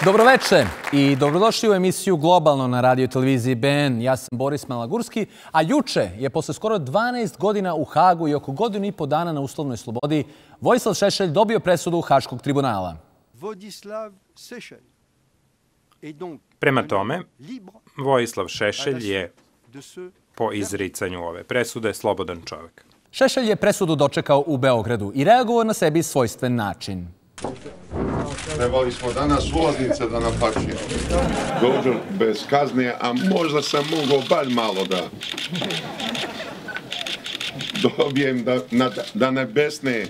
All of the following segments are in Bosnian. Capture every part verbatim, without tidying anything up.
Dobroveče i dobrodošli u emisiju Globalno na radio i televiziji B N. Ja sam Boris Malagurski, a juče je posle skoro dvanaest godina u Hagu i oko godinu i po dana na uslovnoj slobodi Vojislav Šešelj dobio presudu Haškog tribunala. Prema tome, Vojislav Šešelj je po izricanju ove presude slobodan čovjek. Šešelj je presudu dočekao u Beogradu i reagovao na sebi svojstven način. Trebali smo danas ulaznice da naplaćujemo. Dođem bez kazne, a možda sam mogao bar malo da dobijem da, na, da ne besne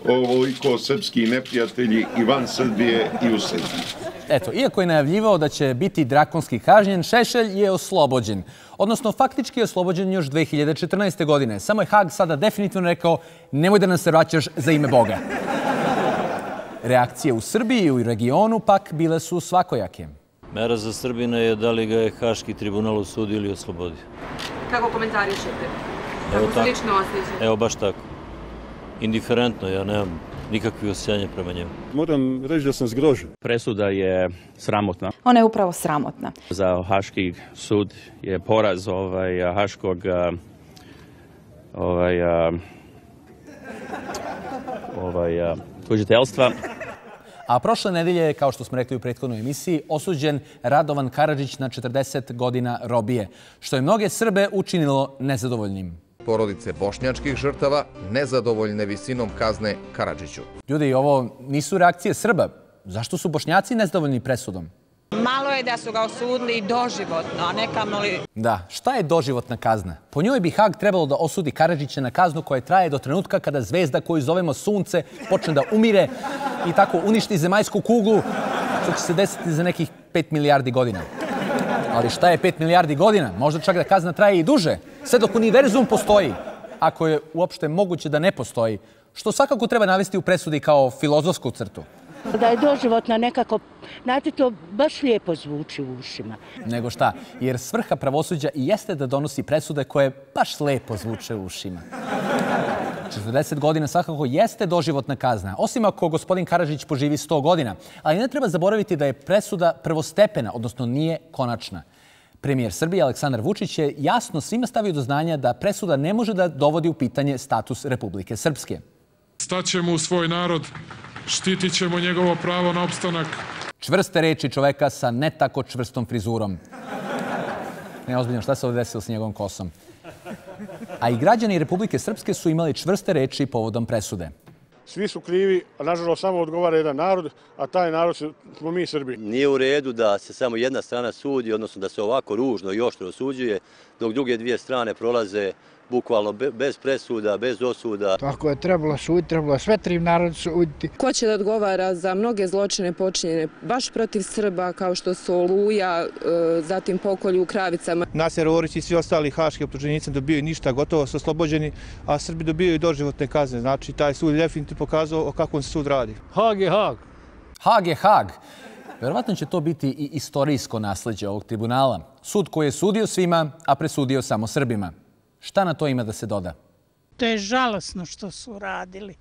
ovoliko srpski neprijatelji i van Srbije i u Srbiji. Eto, iako je najavljivao da će biti drakonski kažnjen, Šešelj je oslobođen. Odnosno, faktički je oslobođen još dve hiljade četrnaeste. godine. Samo je Hag sada definitivno rekao nemoj da nam se vraćaš za ime Boga. Reakcije u Srbiji i u regionu pak bile su svakojake. Mera za Srbina je da li ga je Haški tribunal osudio ili oslobodio. Kako komentarišete? Kako se lično osjećate? Evo baš tako. Indiferentno, ja nemam nikakve osjećanja prema njemu. Moram reći da sam zgrožen. Presuda je sramotna. Ona je upravo sramotna. Za Haški sud je poraz ovaj, Haškog ovaj, ovaj, tužiteljstva. A prošle nedelje je, kao što smo rekli u prethodnoj emisiji, osuđen Radovan Karadžić na četrdeset godina robije, što je mnoge Srbe učinilo nezadovoljnim. Porodice bošnjačkih žrtava nezadovoljne visinom kazne Karadžiću. Ljudi, ovo nisu reakcije Srba. Zašto su Bošnjaci nezadovoljni presudom? Malo je da su ga osudili doživotno, a ne kamoli... Da, šta je doživotna kazna? Po njoj bi Hag trebalo da osudi Karadžića na kaznu koja traje do trenutka kada zvezda koju zovemo Sunce počne da umire i tako uništi zemaljsku kuglu, što će se desiti za nekih pet milijardi godina. Ali šta je pet milijardi godina? Možda čak da kazna traje i duže, sve dok univerzum postoji, ako je uopšte moguće da ne postoji, što svakako treba navesti u presudi kao filozofsku crtu. Da je doživotna nekako, znate, to baš lijepo zvuči u ušima. Nego šta, jer svrha pravosuđa i jeste da donosi presude koje baš lijepo zvuče u ušima. četrdeset godina svakako jeste doživotna kazna, osim ako gospodin Karadžić poživi sto godina. Ali ne treba zaboraviti da je presuda prvostepena, odnosno nije konačna. Premijer Srbije Aleksandar Vučić je jasno svima stavio do znanja da presuda ne može da dovodi u pitanje status Republike Srpske. Staćemo u svoj narod, štitit ćemo njegovo pravo na opstanak. Čvrste reči čoveka sa ne tako čvrstom frizurom. Ne, ozbiljno, šta se ovdje desilo s njegovom kosom? A i građani Republike Srpske su imali čvrste reči povodom presude. Svi su krivi, a nažalost samo odgovara jedan narod, a taj narod smo mi Srbi. Nije u redu da se samo jedna strana sudi, odnosno da se ovako ružno i oštro osuđuje, dok druge dvije strane prolaze bukvalno bez presuda, bez osuda. Ako je trebalo suditi, trebalo sve tri narod suditi. Ko će da odgovara za mnoge zločine počinjene baš protiv Srba, kao što su Oluja, zatim pokolju u Kravicama? Naser Orić i svi ostali haški optuženici dobijaju ništa, gotovo su oslobođeni, a Srbi dobijaju doživotne kazne. Znači, taj sud je definitivno pokazao o kakvom se sud radi. Hag je Hag. Hag je Hag. Verovatno će to biti i istorijsko nasleđe ovog tribunala. Sud koji je sudio svima, a presudio samo Srbima. Šta na to ima da se doda? To je žalosno što su radili.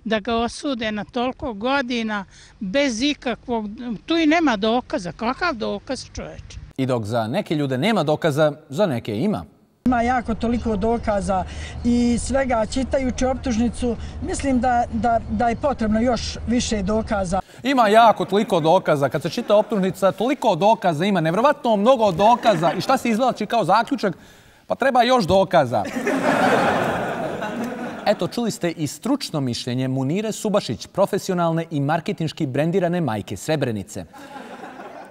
Da ga osude na toliko godina bez ikakvog... Tu i nema dokaza. Kakav dokaz, čoveče? I dok za neke ljude nema dokaza, za neke ima. Ima jako toliko dokaza i svega čitajući optužnicu, mislim da, da, da je potrebno još više dokaza. Ima jako toliko dokaza. Kad se čita optužnica, toliko dokaza ima. Nevjerovatno mnogo dokaza. I šta se izvlači kao zaključak? Pa treba još dokaza. Eto, čuli ste i stručno mišljenje Munire Subašić, profesionalne i marketinški brendirane majke Srebrenice,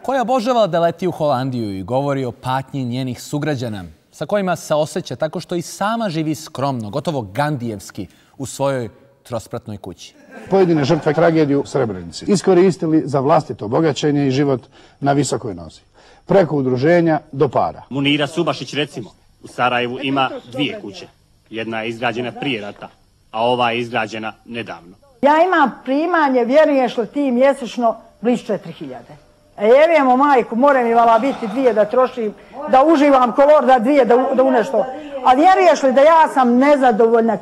koja obožava da leti u Holandiju i govori o patnji njenih sugrađana, sa kojima se osjeća tako što i sama živi skromno, gotovo gandijevski, u svojoj trospratnoj kući. Pojedine žrtve tragediju u Srebrenici iskoristili za vlastito bogaćenje i život na visokoj nozi. Preko udruženja do para. Munira Subašić, recimo, u Sarajevu ima dvije kuće. Jedna je izgrađena prije rata, a ova je izgrađena nedavno. Ja imam primanje, vjeruješ li ti, mjesečno blizu četiri hiljade. E, jevijemo majku, mora mi vala biti dvije da trošim, da uživam kolor, da dvije da, da u nešto. A vjeruješ li da ja sam nezadovoljna?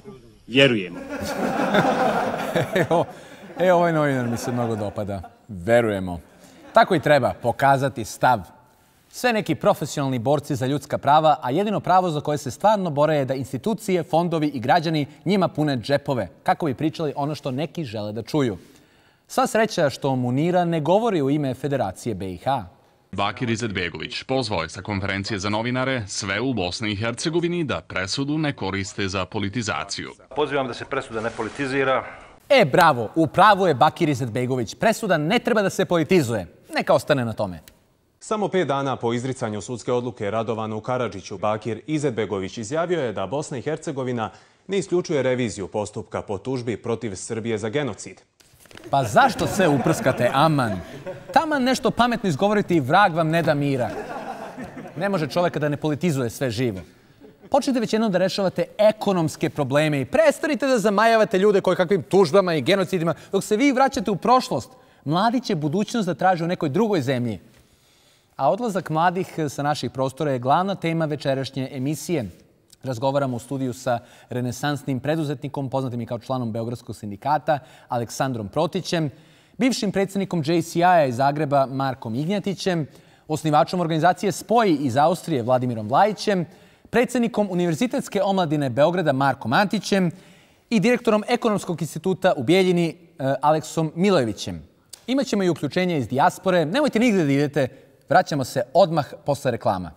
Vjerujemo. Evo, e, ovaj novinar mi se mnogo dopada. Verujemo. Tako i treba pokazati stav. Sve neki profesionalni borci za ljudska prava, a jedino pravo za koje se stvarno bore je da institucije, fondovi i građani njima pune džepove, kako bi pričali ono što neki žele da čuju. Sva sreća što Munira ne govori u ime Federacije be i ha. Bakir Izetbegović pozvao je sa konferencije za novinare sve u Bosni i Hercegovini da presudu ne koriste za politizaciju. Pozivam da se presuda ne politizira. E, bravo, u pravu je Bakir Izetbegović. Presuda ne treba da se politizuje. Neka ostane na tome. Samo pet dana po izricanju sudske odluke Radovanu Karadžiću, Bakir Izetbegović izjavio je da Bosna i Hercegovina ne isključuje reviziju postupka po tužbi protiv Srbije za genocid. Pa zašto se uprskate, aman? Taman nešto pametno izgovoriti i vrag vam ne da mira. Ne može čoveka da ne politizuje sve živo. Počnite već jednom da rešavate ekonomske probleme i prestanite da zamajavate ljude koji kakvim tužbama i genocidima, dok se vi vraćate u prošlost. Mladi će budućnost da traže u nekoj drugoj zemlji. A odlazak mladih sa naših prostora je glavna tema večerašnje emisije. Razgovaramo u studiju sa renesansnim preduzetnikom, poznatim i kao članom Beogradskog sindikata, Aleksandrom Protićem, bivšim predsjednikom džej si aj-a iz Zagreba, Markom Ignjatićem, osnivačom organizacije Spoji iz Austrije, Vladimirom Vlajićem, predsjednikom Univerzitetske omladine Beograda, Markom Antićem i direktorom Ekonomskog instituta u Bijeljini, Aleksom Milojevićem. Imaćemo i uključenje iz dijaspore. Nemojte nigde da idete. Vraćamo se odmah posle reklama.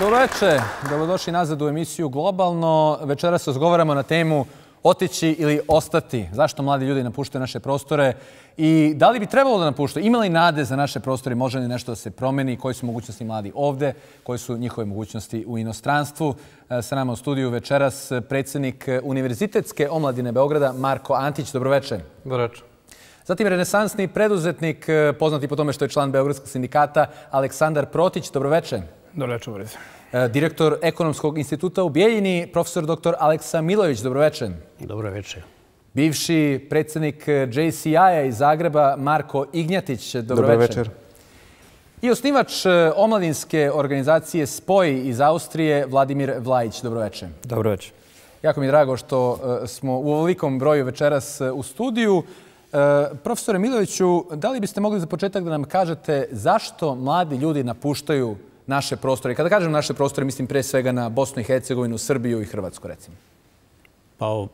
Dobro večer. Dobrodošli nazad u emisiju Globalno. Večeras razgovaramo na temu otići ili ostati. Zašto mladi ljudi napuštaju naše prostore i da li bi trebalo da napuštaju? Ima li nade za naše prostore? Može li nešto da se promeni? Koje su mogućnosti mladi ovde? Koje su njihove mogućnosti u inostranstvu? Sa nama u studiju večeras predsjednik Univerzitetske omladine Beograda, Marko Antić. Dobro večer. Dobro večer. Zatim renesansni preduzetnik, poznati po tome što je član Beogradskog sindikata, Aleksandar Protić. Dobro večer. Dobro večer, Boris. Direktor Ekonomskog instituta u Bijeljini, profesor doktor Aleksa Milojević. Dobro večer. Dobro večer. Bivši predsjednik džej si aj-a iz Zagreba, Marko Ignjatić. Dobro, Dobro večer. večer. I osnivač omladinske organizacije Spoji iz Austrije, Vladimir Vlajić. Dobro večer. Dobro večer. Jako mi je drago što smo u ovolikom broju večeras u studiju. Profesore Milojeviću, da li biste mogli za početak da nam kažete zašto mladi ljudi napuštaju naše prostore? Kada kažem naše prostore, mislim pre svega na Bosnu i Hercegovinu, Srbiju i Hrvatsku, recimo. Pa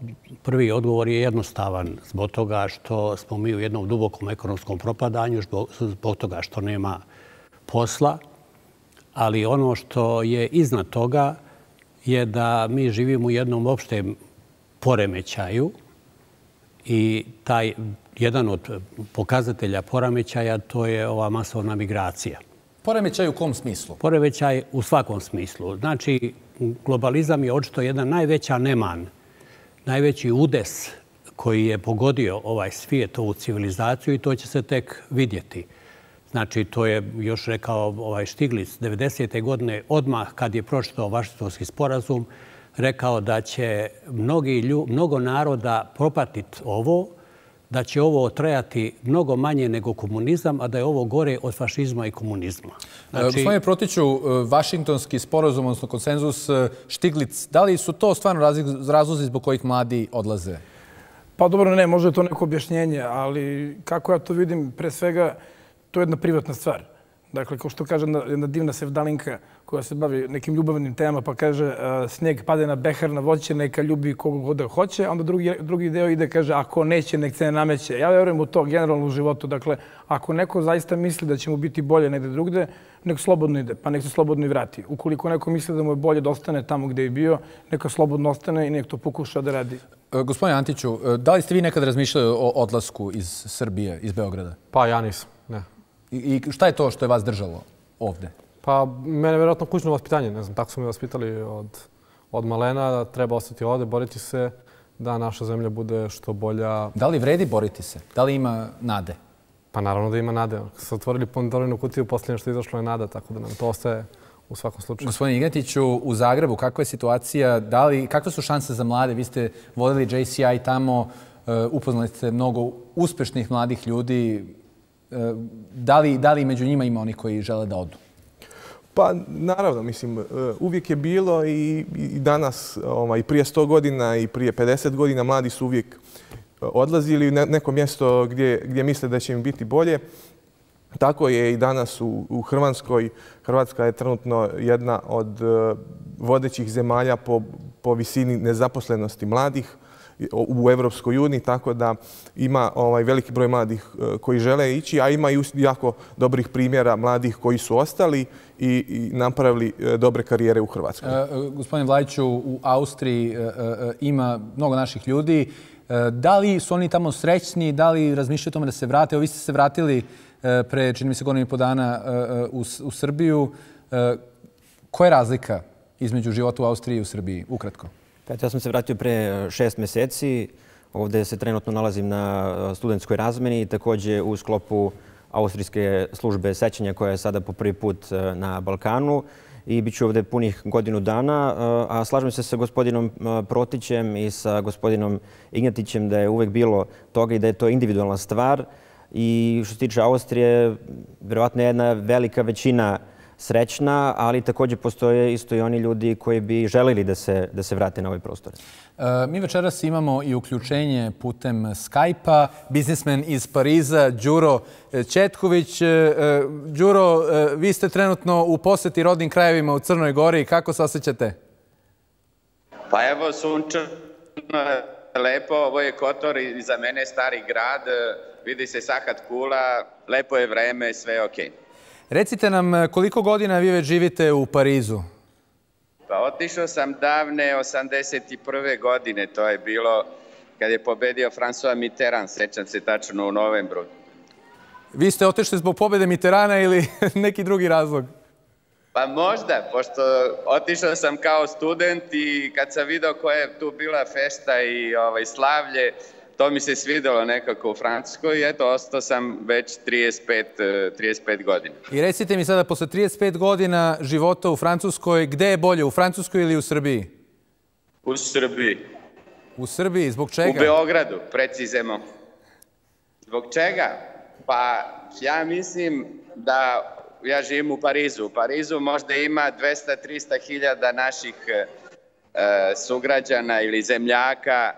prvi odgovor je jednostavan zbog toga što smo mi u jednom dubokom ekonomskom propadanju, zbog toga što nema posla, ali ono što je iznad toga je da mi živimo u jednom opštem poremećaju i taj jedan od pokazatelja poremećaja to je ova masovna migracija. Poremećaj u kom smislu? Poremećaj u svakom smislu. Znači, globalizam je očito jedna najveća neman, najveći udes koji je pogodio ovaj svijet, ovu civilizaciju i to će se tek vidjeti. Znači, to je još rekao ovaj Štiglic devedesete godine, odmah kad je pročitao Vašingtonski sporazum, rekao da će mnogi lju, mnogo naroda propatiti ovo, da će ovo trajati mnogo manje nego komunizam, a da je ovo gore od fašizma i komunizma. Znači... Gospodine Protiću, Vašingtonski sporazum, odnosno konsenzus, Štiglic, da li su to stvarno razlozi zbog kojih mladi odlaze? Pa dobro, ne, možda je to neko objašnjenje, ali kako ja to vidim, pre svega, to je jedna privatna stvar. Dakle, kao što kaže jedna divna sevdalinka koja se bavi nekim ljubavnim temama, pa kaže snijeg pade na behar, na voće, neka ljubi kogu god da hoće, a onda drugi, drugi deo ide, kaže, ako neće, nek se ne nameće. Ja verujem u to generalno u životu. Dakle, ako neko zaista misli da će mu biti bolje negde drugde, nek slobodno ide, pa nek se slobodno i vrati. Ukoliko neko misli da mu je bolje da ostane tamo gde je bio, neka slobodno ostane i nek to pokuša da radi. Gospodine Antiću, da li ste vi nekad razmišljali o odlasku iz Srbije, iz Beograda? Pa ja nisam, ne. I šta je to što je vas držalo ovde? Pa mene je vjerojatno kućno vaspitanje. Ne znam, tako su me vaspitali od, od malena da treba ostati ovde, boriti se da naša zemlja bude što bolja. Da li vredi boriti se? Da li ima nade? Pa naravno da ima nade. Kad se otvorili Pandorinu kutiju, posljednje što je izašlo je nada, tako da nam to ostaje u svakom slučaju. Gospodine Ignjatiću, u Zagrebu kakva je situacija? Da li, kakve su šanse za mlade? Vi ste vodili džej si aj tamo, upoznali ste mnogo uspešnih mladih ljudi. Da li, da li među njima ima oni koji žele da odu? Pa naravno, mislim, uvijek je bilo i, i danas, ovaj, i prije sto godina i prije pedeset godina mladi su uvijek odlazili u neko mjesto gdje misle da će im biti bolje. Tako je i danas u Hrvatskoj. Hrvatska je trenutno jedna od vodećih zemalja po visini nezaposlenosti mladih u Evropskoj uniji, tako da ima veliki broj mladih koji žele ići, a ima i jako dobrih primjera mladih koji su ostali i napravili dobre karijere u Hrvatskoj. Gospodine Vlajiću, u Austriji ima mnogo naših ljudi. Da li su oni tamo srećni, da li razmišljaju o tome da se vrate? Evo, vi ste se vratili pre, čini mi se, godinu i po dana u Srbiju. Koja je razlika između života u Austriji i u Srbiji? Ukratko. Ja sam se vratio pre šest meseci. Ovdje se trenutno nalazim na studentskoj razmeni i također u sklopu Austrijske službe sećanja koja je sada po prvi put na Balkanu i bit ću ovdje punih godinu dana. A slažem se sa gospodinom Protićem i sa gospodinom Ignjatićem da je uvek bilo toga i da je to individualna stvar. I što se tiče Austrije, vjerovatno je jedna velika većina srećna, ali također postoje isto i oni ljudi koji bi želeli da se, da se vrate na ovaj prostor. Mi večeras imamo i uključenje putem Skype-a. Biznismen iz Pariza, Đuro Četković. Đuro, vi ste trenutno u poseti rodnim krajevima u Crnoj Gori. Kako se osjećate? Pa evo, sunčano, lepo. Ovo je Kotor i za mene stari grad. Vidi se Sahat Kula. Lepo je vreme, sve je okej. Recite nam koliko godina vi već živite u Parizu? Pa otišao sam davne osamdeset prve godine. To je bilo kad je pobedio François Mitterrand. Sećam se tačno u novembru. Vi ste otišli zbog pobjede Mitterranda ili neki drugi razlog? Pa možda, pošto otišao sam kao student i kad sam vidio koja je tu bila fešta i ovaj, slavlje, to mi se svidjelo nekako u Francuskoj i eto, ostao sam već trideset pet godina. I recite mi sada, posle trideset pet godina života u Francuskoj, gde je bolje, u Francuskoj ili u Srbiji? U Srbiji. U Srbiji, zbog čega? U Beogradu, precizemo. Zbog čega? Pa ja mislim da ja živim u Parizu. U Parizu možda ima dvesta do trista hiljada naših sugrađana ili zemljaka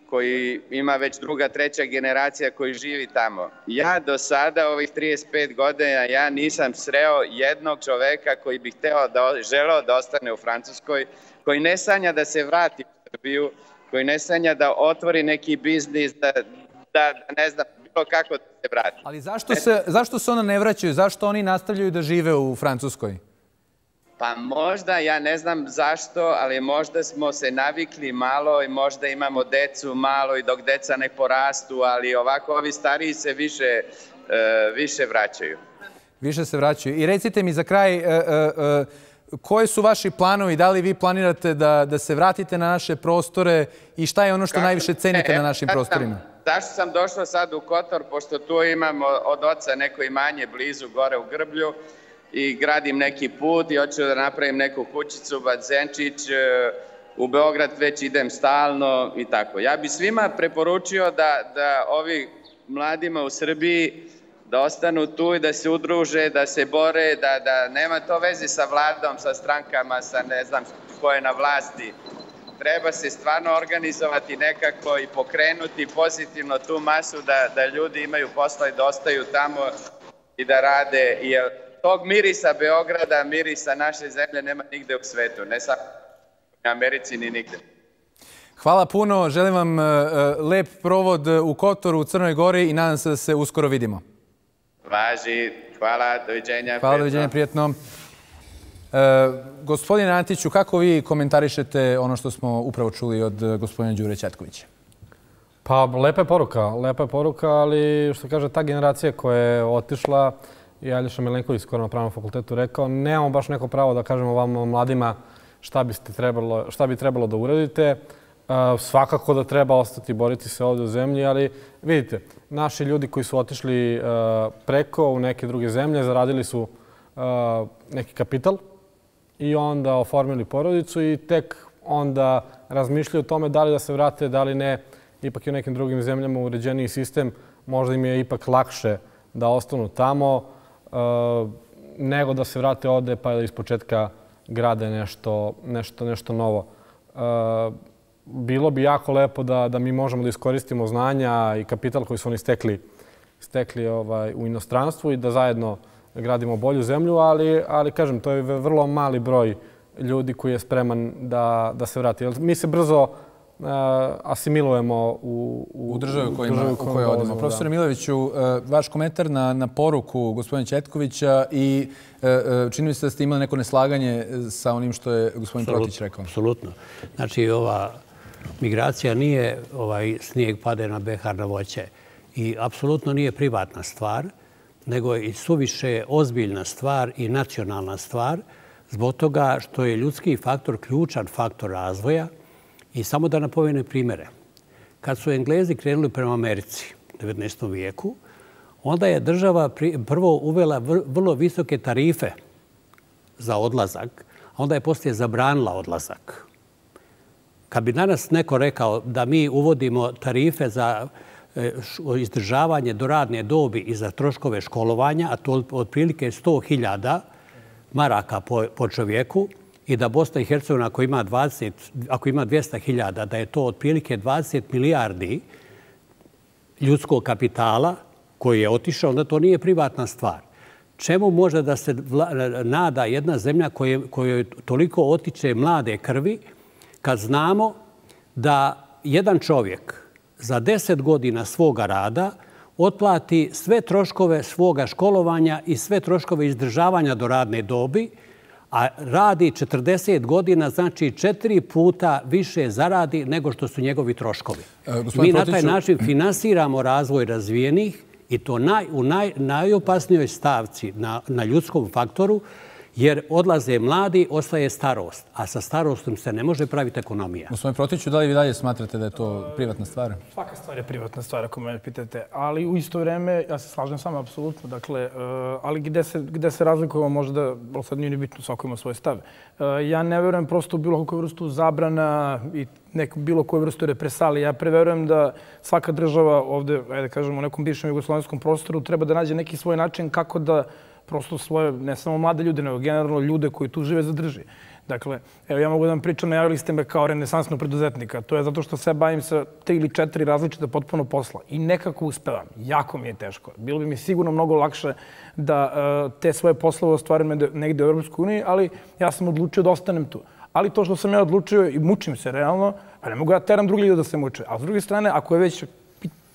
koji ima već druga, treća generacija koji živi tamo. Ja do sada, ovih trideset pet godina, ja nisam sreo jednog čoveka koji bi hteo da, želeo da ostane u Francuskoj, koji ne sanja da se vrati u Srbiju, koji ne sanja da otvori neki biznis, da, da ne znam, bilo kako da se vrati. Ali zašto se, zašto se ona ne vraćaju? Zašto oni nastavljaju da žive u Francuskoj? Pa možda, ja ne znam zašto, ali možda smo se navikli malo i možda imamo decu malo i dok deca ne porastu, ali ovako ovi stariji se više, uh, više vraćaju. Više se vraćaju. I recite mi za kraj, uh, uh, uh, koje su vaši planovi? Da li vi planirate da, da se vratite na naše prostore i šta je ono što Kako? najviše cenite e, na našim prostorima? Zašto sam došao sad u Kotor, pošto tu imamo od oca neko imanje blizu gore u Grblju, i gradim neki put i hoću da napravim neku kućicu, bazenčić, u Beograd već idem stalno i tako. Ja bi svima preporučio da, da ovi mladima u Srbiji da ostanu tu i da se udruže, da se bore, da, da nema to veze sa vladom, sa strankama, sa ne znam ko je na vlasti. Treba se stvarno organizovati nekako i pokrenuti pozitivno tu masu da, da ljudi imaju posla i da ostaju tamo i da rade. Jer tog mirisa Beograda, mirisa naše zemlje nema nigde u svetu, ne samo u Americi ni nigde. Hvala puno, želim vam lep provod u Kotoru, u Crnoj Gori i nadam se da se uskoro vidimo. Važi, hvala, doviđenja. Hvala, doviđenja, prijetno. E, gospodine Antiću, kako vi komentarišete ono što smo upravo čuli od gospodina Đure Četkovića? Pa, lepa je poruka, lepa je poruka, ali što kaže ta generacija koja je otišla, i Aljoša Milenković skoro na Pravnom fakultetu rekao, nemamo baš neko pravo da kažemo vam mladima šta, biste trebalo, šta bi trebalo da uradite. Uh, svakako da treba ostati i boriti se ovdje u zemlji, ali vidite, naši ljudi koji su otišli uh, preko u neke druge zemlje, zaradili su uh, neki kapital i onda oformili porodicu i tek onda razmišljaju o tome da li da se vrate, da li ne. Ipak je u nekim drugim zemljama uređeniji sistem, možda im je ipak lakše da ostanu tamo, nego da se vrate ovde pa da ispočetka grade nešto, nešto, nešto novo. bilo bi jako lepo da, da mi možemo da iskoristimo znanja i kapital koji su oni stekli, stekli ovaj, u inostranstvu i da zajedno gradimo bolju zemlju, ali, ali kažem, to je vrlo mali broj ljudi koji je spreman da, da se vrati. Mi se brzo uh, asimilujemo u, u, u državu u kojoj kojoj odemo. Profesore Milojeviću, uh, vaš komentar na, na poruku gospodina Ćetkovića i uh, čini mi se da ste imali neko neslaganje sa onim što je gospodin Absolut, Protić rekao. Apsolutno. Znači, ova migracija nije ovaj snijeg pade na behar na voće i apsolutno nije privatna stvar, nego je i suviše ozbiljna stvar i nacionalna stvar, zbog toga što je ljudski faktor ključan faktor razvoja. I samo da napomenem primjere. Kad su Englezi krenuli prema Americi u devetnaestom vijeku, onda je država prvo uvela vrlo visoke tarife za odlazak, a onda je poslije zabranila odlazak. Kad bi danas neko rekao da mi uvodimo tarife za izdržavanje do radne dobi i za troškove školovanja, a to otprilike sto hiljada maraka po, po čovjeku, i da Bosna i Hercegovina, ako ima, dvadeset, ako ima dvjesto hiljada, da je to otprilike dvadeset milijardi ljudskog kapitala koji je otišao, onda to nije privatna stvar. Čemu može da se nada jedna zemlja koje, kojoj toliko otiče mlade krvi, kad znamo da jedan čovjek za deset godina svoga rada otplati sve troškove svoga školovanja i sve troškove izdržavanja do radne dobi, a radi četrdeset godina, znači četiri puta više zaradi nego što su njegovi troškovi. E, Mi na taj način finansiramo razvoj razvijenih i to naj, u naj, najopasnijoj stavci na, na ljudskom faktoru, jer odlaze mladi, ostaje starost. A sa starostom se ne može praviti ekonomija. Gospodin Protiću, da li vi dalje smatrate da je to privatna stvar? Svaka stvar je privatna stvar, ako me pitate. Ali u isto vrijeme, ja se slažem s vama, apsolutno. Dakle, ali gde se, gde se razlikujemo možda, sad nije ni bitno, svako ima svoj stav. Ja ne verujem prosto u bilo koju vrstu zabrana i neku bilo koju vrstu represalije. Ja preverujem da svaka država ovde, ajde kažemo, u nekom bivšem jugoslovenskom prostoru treba da nađe neki svoj način kako da prosto svoje, ne samo mlade ljude, nego generalno ljude koji tu žive zadrži. Dakle, evo ja mogu da vam pričam, najavili ste me kao renesansnog preduzetnika. To je zato što se bavim sa tri ili četiri različite potpuno posla. I nekako uspevam. Jako mi je teško. Bilo bi mi sigurno mnogo lakše da uh, te svoje poslove ostvarim negde u Europskoj uniji, ali ja sam odlučio da ostanem tu. Ali to što sam ja odlučio i mučim se realno, pa ne mogu ja teram drugi ljudi da se muče. A s druge strane, ako je već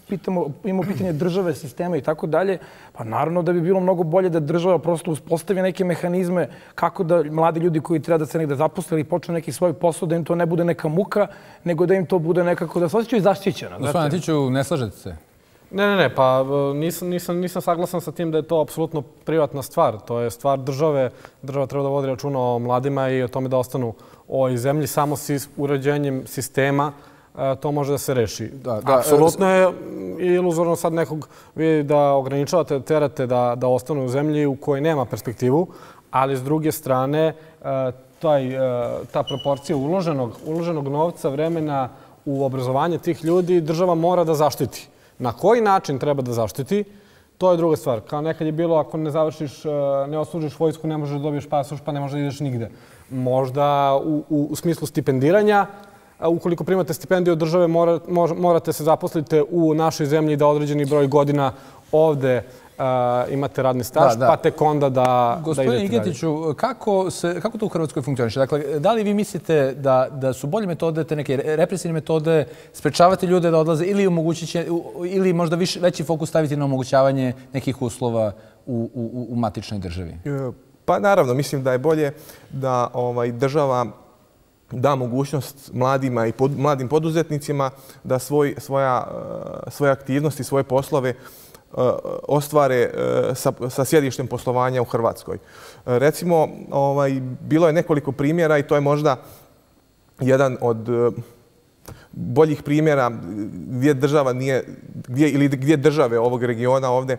pitamo, imamo pitanje države, sistema i tako dalje, pa naravno da bi bilo mnogo bolje da država prosto uspostavi neke mehanizme kako da mladi ljudi koji treba da se negde zaposle ili počnu neki svoj posao, da im to ne bude neka muka, nego da im to bude nekako da se osjećaju zaštićeno. Gospodin Antiću, ne slažete se? Ne, ne, ne, pa nisam, nisam, nisam saglasan sa tim da je to apsolutno privatna stvar. To je stvar države. Država treba da vodi računa o mladima i o tome da ostanu u ovoj zemlji. Samo s uređenjem sistema to može da se reši. Da, da, apsolutno je iluzorno sad nekog vi da ograničavate, terate da, da ostanu u zemlji u kojoj nema perspektivu, ali s druge strane taj, ta proporcija uloženog, uloženog novca, vremena u obrazovanje tih ljudi država mora da zaštiti. Na koji način treba da zaštiti, to je druga stvar. Kao nekad je bilo, ako ne završiš, ne odslužiš vojsku, ne možeš da dobiješ pasoš, pa ne možeš da ideš nigde. Možda u, u, u smislu stipendiranja, ukoliko primate stipendiju od države, mora, morate se zaposliti u našoj zemlji da određeni broj godina ovde uh, imate radni staž, da, da. Pa tek onda da, da idete dalje. Gospodine Igetiću, kako, se, kako to u Hrvatskoj funkcioniše? Dakle, da li vi mislite da, da su bolje metode, te neke represivne metode, sprečavati ljude da odlaze ili, omogućiće, ili možda više, veći fokus staviti na omogućavanje nekih uslova u, u, u matičnoj državi? Pa naravno, mislim da je bolje da ovaj, država da mogućnost mladima i pod, mladim poduzetnicima da svoj, svoja, svoje aktivnosti, svoje poslove ostvare sa, sa sjedištem poslovanja u Hrvatskoj. Recimo, ovaj, bilo je nekoliko primjera i to je možda jedan od boljih primjera gdje država nije, gdje, ili gdje države ovog regiona ovdje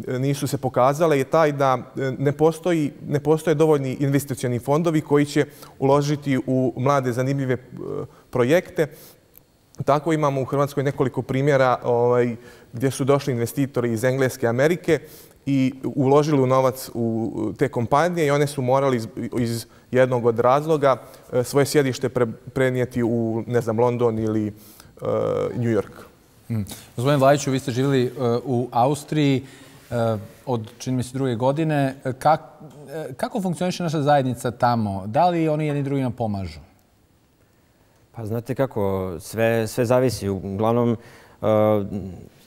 nisu se pokazale je taj da ne, postoji, ne postoje dovoljni investicioni fondovi koji će uložiti u mlade zanimljive projekte. Tako imamo u Hrvatskoj nekoliko primjera ovaj, gdje su došli investitori iz Engleske, Amerike i uložili u novac u te kompanije i one su morali iz, iz jednog od razloga svoje sjedište pre, prenijeti u, ne znam, London ili uh, New York. Mm. Gospodin Vlajiću, vi ste živjeli uh, u Austriji uh, od, čini mi se, druge godine. Kak, uh, kako funkcioniše naša zajednica tamo? Da li oni jedni drugima pomažu? Pa znate kako, sve, sve zavisi. Uglavnom, uh,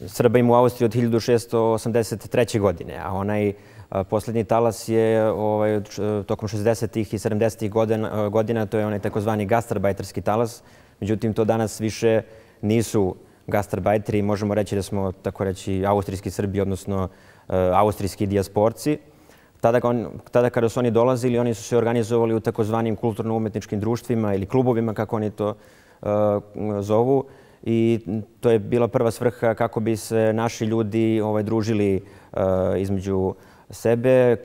Srba ima u Austriji od hiljadu šeststo osamdeset treće. godine, a onaj uh, posljednji talas je ovaj, tokom šezdesetih i sedamdesetih godina, godina, to je onaj takozvani gastarbajterski talas. Međutim, to danas više nisu gastarbajteri. Možemo reći da smo, tako reći, austrijski Srbi, odnosno uh, austrijski dijasporci. Tada, tada kada su oni dolazili, oni su se organizovali u takozvanim kulturno-umetničkim društvima ili klubovima, kako oni to uh, zovu. I to je bila prva svrha kako bi se naši ljudi ovaj, družili uh, između sebe,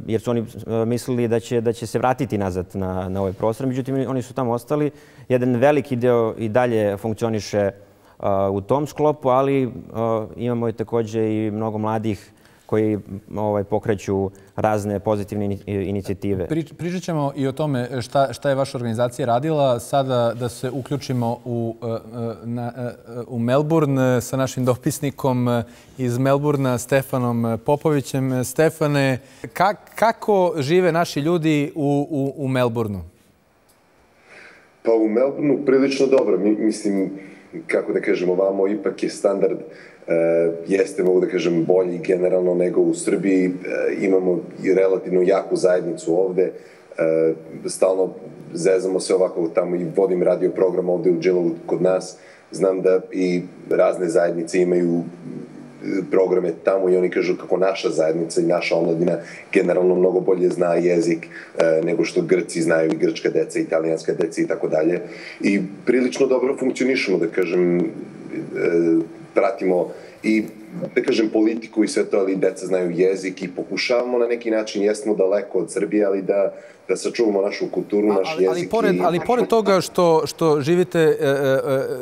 jer su oni mislili da će, da će se vratiti nazad na, na ovaj prostor. Međutim, oni su tamo ostali. Jedan veliki deo i dalje funkcioniše uh, u tom sklopu, ali uh, imamo i također i mnogo mladih koji ovaj, pokreću razne pozitivne inicijative. Prič, pričat ćemo i o tome šta, šta je vaša organizacija radila. Sada da se uključimo u, na, u Melbourne sa našim dopisnikom iz Melbourna, Stefanom Popovićem. Stefane, kak, kako žive naši ljudi u, u, u Melbourneu? Pa u Melbourneu prilično dobro. Mi, mislim, kako da kažemo, ovamo ipak je standard Uh, jeste, mogu da kažem, bolji generalno nego u Srbiji. Uh, imamo i relativno jaku zajednicu ovde. Uh, stalno zezamo se ovako tamo i vodim radio program ovde u Džilovu kod nas. Znam da i razne zajednice imaju programe tamo i oni kažu kako naša zajednica i naša omladina generalno mnogo bolje zna jezik uh, nego što Grci znaju, i grčka deca, italijanska deca i tako dalje. I prilično dobro funkcionišemo, da kažem, uh, pratimo i, da kažem, politiku i sve to, ali deca znaju jezik i pokušavamo na neki način, jesmo daleko od Srbije, ali da, da sačuvamo našu kulturu, naš ali, jezik. Ali pored, i... ali pored toga što, što živite e, e,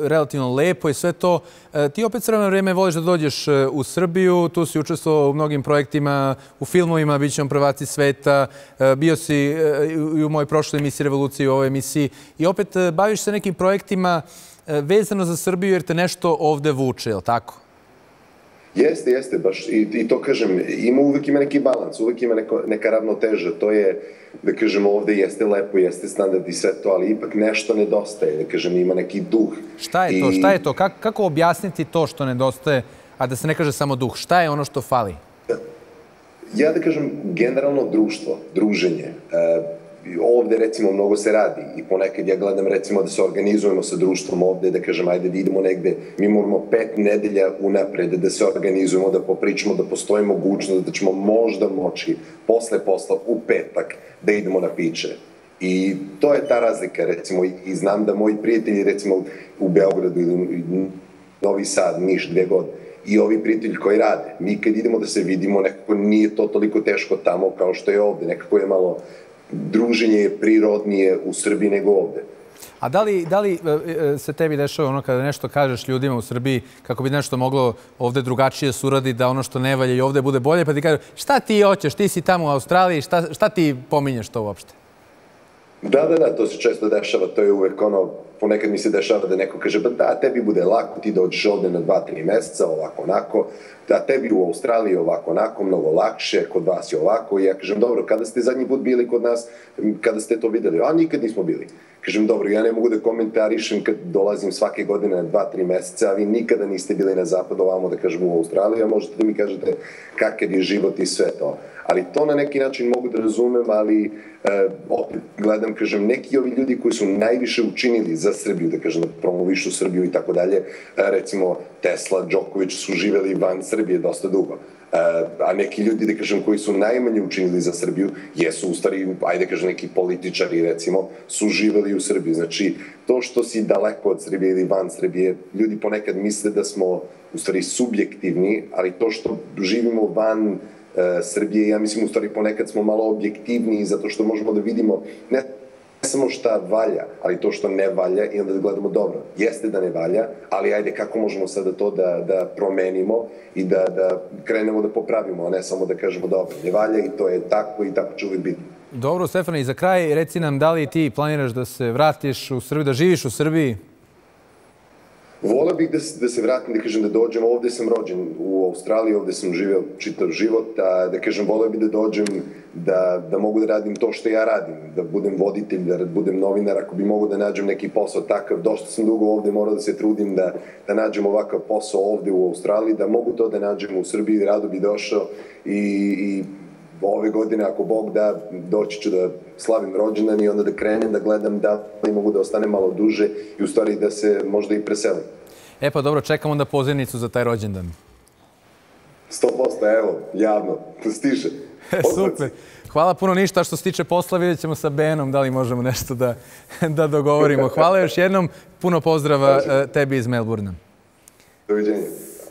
relativno lepo i sve to, e, ti opet sve vreme voliš da dođeš u Srbiju, tu si učestvovao u mnogim projektima, u filmovima, bit ćemo prvaci sveta, e, bio si e, i u mojoj prošloj emisiji Revolucije, u ovoj emisiji, i opet e, baviš se nekim projektima vezano za Srbiju jer te nešto ovde vuče, je li tako? Jeste, jeste, baš. I, i to kažem, ima, uvijek ima neki balans, uvijek ima neko, neka ravnoteža. To je, da kažem, ovde jeste lepo, jeste standard i sve to, ali ipak nešto nedostaje, da kažem, ima neki duh. Šta je to? I... Šta je to? Kako, kako objasniti to što nedostaje, a da se ne kaže samo duh? Šta je ono što fali? Ja da kažem, generalno društvo, druženje. E, ovde, recimo, mnogo se radi i ponekad ja gledam, recimo, da se organizujemo sa društvom ovde, da kažem, ajde da idemo negde, mi moramo pet nedelja unapred da se organizujemo, da popričamo, da postoji mogućnost da ćemo možda moći posle posla u petak da idemo na piće. I to je ta razlika, recimo, i znam da moji prijatelji, recimo, u Beogradu ili Novi Sad, Niš, gdje god, i ovi prijatelji koji rade, mi kad idemo da se vidimo, nekako nije to toliko teško tamo kao što je ovde, nekako je malo druženje je prirodnije u Srbiji nego ovde. A da li, da li se tebi dešava ono kada nešto kažeš ljudima u Srbiji kako bi nešto moglo ovde drugačije suradi, da ono što ne valja i ovde bude bolje, pa ti kažu šta ti hoćeš, ti si tamo u Australiji, šta, šta ti pominješ to uopšte? Da, da, da, to se često dešava, to je uvek ono, ponekad mi se dešava da neko kaže, ba da, tebi bude lako, ti dođeš ovde na dva, tri meseca, ovako, onako, da tebi u Australiji ovako, onako, mnogo lakše, kod vas je ovako, i ja kažem, dobro, kada ste zadnji put bili kod nas, kada ste to videli? A nikad nismo bili. Kažem, dobro, ja ne mogu da komentarišem kad dolazim svake godine na dva, tri meseca, a vi nikada niste bili na zapadu ovamo, da kažem, u Australiji, a možete da mi kažete kakav je život i sve to. Ali to na neki način mogu da razumem, ali e, opet gledam, kažem, neki ovi ljudi koji su najviše učinili za Srbiju, da kažem, da promovišu Srbiju i tako dalje, recimo Tesla, Đoković su živeli van Srbije dosta dugo. A neki ljudi, da kažem, koji su najmanje učinili za Srbiju, jesu u stvari, ajde kažem, neki političari, recimo, su živeli u Srbiji. Znači, to što si daleko od Srbije ili van Srbije, ljudi ponekad misle da smo u stvari subjektivni, ali to što živimo van Srbije, ja mislim, u stvari ponekad smo malo objektivniji zato što možemo da vidimo ne samo šta valja, ali to što ne valja i onda da gledamo dobro. Jeste da ne valja, ali ajde kako možemo sada to da, da promenimo i da, da krenemo da popravimo, a ne samo da kažemo dobro, ne valja i to je tako i tako će uvijek biti. Dobro, Stefane, i za kraj reci nam da li ti planiraš da se vratiš u Srbiju, da živiš u Srbiji? Voleo bih da, da se vratim, da kažem da dođem, ovdje sam rođen u Australiji, ovdje sam živio čitav život, a da kažem voleo bih da dođem, da, da mogu da radim to što ja radim, da budem voditelj, da budem novinar, ako bi mogu da nađem neki posao takav, došao sam dugo ovdje, morao da se trudim da, da nađem ovakav posao ovdje u Australiji, da mogu to da nađem u Srbiji, rado bi došao i, i ove godine, ako Bog da, doći ću da slavim rođendan i onda da krenem, da gledam da li mogu da ostane malo duže i u stvari da se možda i preselim. E pa dobro, čekam onda pozivnicu za taj rođendan. sto posto, evo, javno, stiže. Super. Hvala puno, ništa što se tiče posla, vidjet ćemo sa Benom da li možemo nešto da, da dogovorimo. Hvala još jednom, puno pozdrava tebi iz Melbourna. Doviđenja.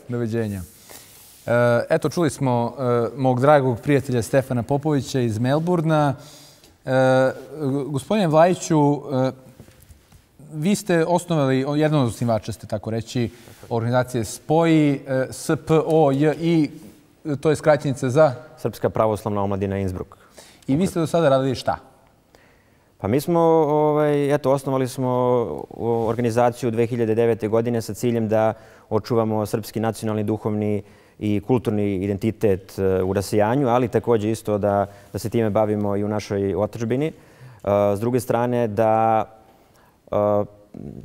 Doviđenja. Eto, čuli smo mog dragog prijatelja Stefana Popovića iz Melbourna. Gospodine Vlajiću, vi ste osnovali, jedan od osnivača ste tako reći, organizacije Spoji, S P O J I, to je skraćenica za? Srpska pravoslavna omladina Innsbruck. I vi ste do sada radili šta? Pa mi smo, ovaj, eto, osnovali smo organizaciju dve hiljade devete. godine sa ciljem da očuvamo srpski nacionalni, duhovni i kulturni identitet u rasijanju, ali također isto da, da se time bavimo i u našoj otadžbini. S druge strane, da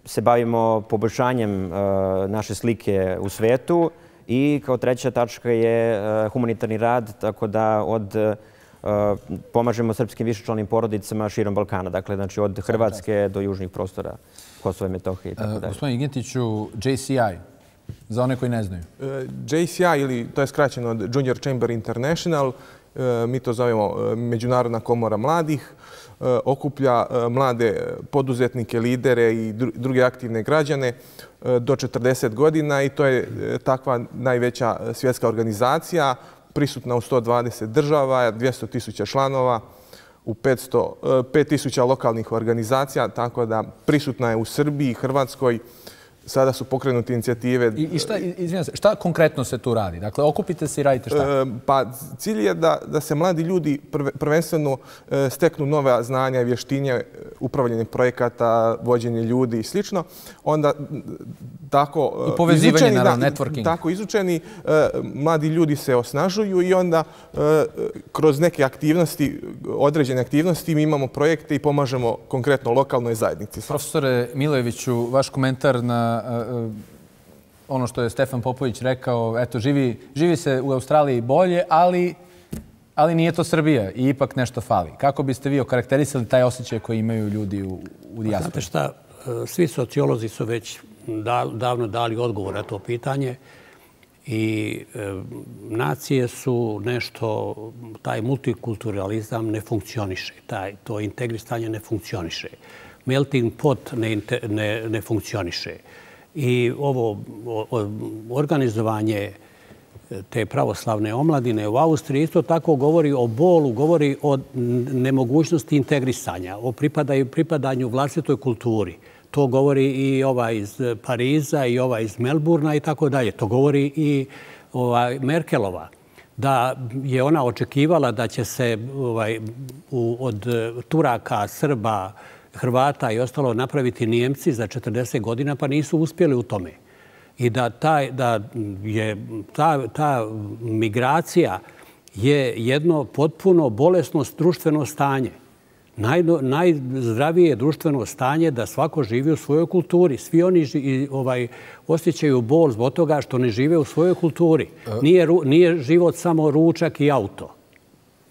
se bavimo poboljšanjem naše slike u svetu i kao treća tačka je humanitarni rad, tako da od pomažemo srpskim višečlanim porodicama širom Balkana, dakle znači od Hrvatske do južnih prostora Kosova i Metohije i tako dalje. Gospodin Igentiću, J C I, za one koji ne znaju. J C I, ili to je skraćeno od Junior Chamber International, mi to zovemo Međunarodna komora mladih, okuplja mlade poduzetnike, lidere i druge aktivne građane do četrdeset godina i to je takva najveća svjetska organizacija, prisutna u sto dvadeset država, dvjesto tisuća članova, u pet tisuća lokalnih organizacija, tako da prisutna je u Srbiji, Hrvatskoj. Sada su pokrenute inicijative. I šta, izvinjam se, šta konkretno se tu radi? Dakle, okupite se i radite šta? Pa cilj je da, da se mladi ljudi prvenstveno steknu nove znanja i vještinje, upravljanje projekata, vođenje ljudi i slično. Onda tako I povezivanje, izučeni, naravno, networking. Tako izučeni, mladi ljudi se osnažuju i onda kroz neke aktivnosti, određene aktivnosti, mi imamo projekte i pomažemo konkretno lokalnoj zajednici. Profesore Milojeviću, vaš komentar na ono što je Stefan Popović rekao, eto, živi, živi se u Australiji bolje, ali, ali nije to Srbija i ipak nešto fali. Kako biste vi okarakterisali taj osjećaj koji imaju ljudi u, u dijaspori? Znate šta, svi sociolozi su već da, davno dali odgovor na to pitanje i e, nacije su nešto, taj multikulturalizam ne funkcioniše, taj, to integrisanje ne funkcioniše. Melting pot ne, ne, ne funkcioniše. I ovo organizovanje te pravoslavne omladine u Austriji isto tako govori o bolu, govori o nemogućnosti integrisanja, o pripadanju, pripadanju vlastitoj kulturi. To govori i ova iz Pariza i ova iz Melburna i tako dalje. To govori i ova Merkelova, da je ona očekivala da će se ovaj, u, od Turaka, Srba, Hrvata i ostalo napraviti Nijemci za četrdeset godina, pa nisu uspjeli u tome. I da, taj, da je ta, ta migracija je jedno potpuno bolesno društveno stanje. Naj, najzdravije društveno stanje da svako živi u svojoj kulturi. Svi oni ži, ovaj, osjećaju bol zbog toga što ne žive u svojoj kulturi. Nije, nije život samo ručak i auto,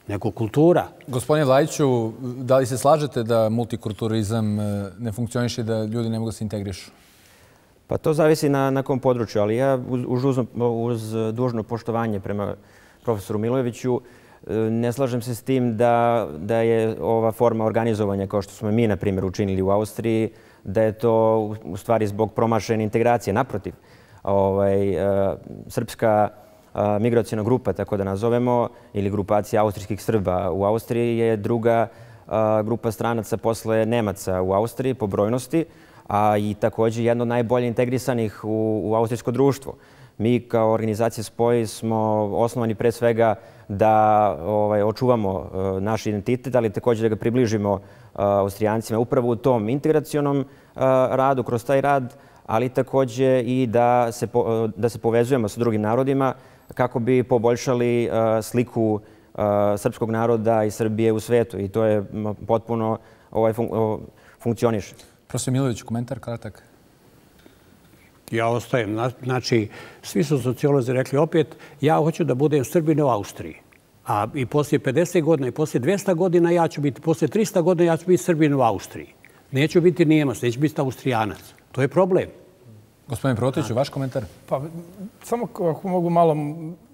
nego kultura. Gospodine Vlajiću, da li se slažete da multikulturalizam ne funkcioniše i da ljudi ne mogu da se integrišu? Pa to zavisi na, na kom području, ali ja uz, uz, uz dužno poštovanje prema profesoru Milojeviću ne slažem se s tim da, da je ova forma organizovanja, kao što smo mi, na primjer, učinili u Austriji, da je to u stvari zbog promašene integracije. Naprotiv, ovaj, srpska migracijna grupa, tako da nazovemo, ili grupacija austrijskih Srba u Austriji je druga grupa stranaca posle Nemaca u Austriji po brojnosti, a i također jedno od najbolje integrisanih u, u austrijsko društvo. Mi kao organizacija Spoj smo osnovani pre svega da ovaj, očuvamo uh, naš identitet, ali također da ga približimo uh, Austrijancima upravo u tom integracionom uh, radu, kroz taj rad, ali također i da se, po, uh, da se povezujemo sa drugim narodima kako bi poboljšali uh, sliku uh, srpskog naroda i Srbije u svetu. I to je potpuno ovaj, fun, uh, funkcioniše. Profesor Milović, komentar kratak. Ja ostajem. Znači, svi su sociolozi rekli opet, ja hoću da budem Srbin u Austriji. A i poslije pedeset godina i poslije dvesta godina ja ću biti, poslije trista godina ja ću biti Srbin u Austriji. Neću biti Nijemac, neću biti Austrijanac. To je problem. Gospodin Protiću, vaš komentar? Pa, samo ako mogu malo,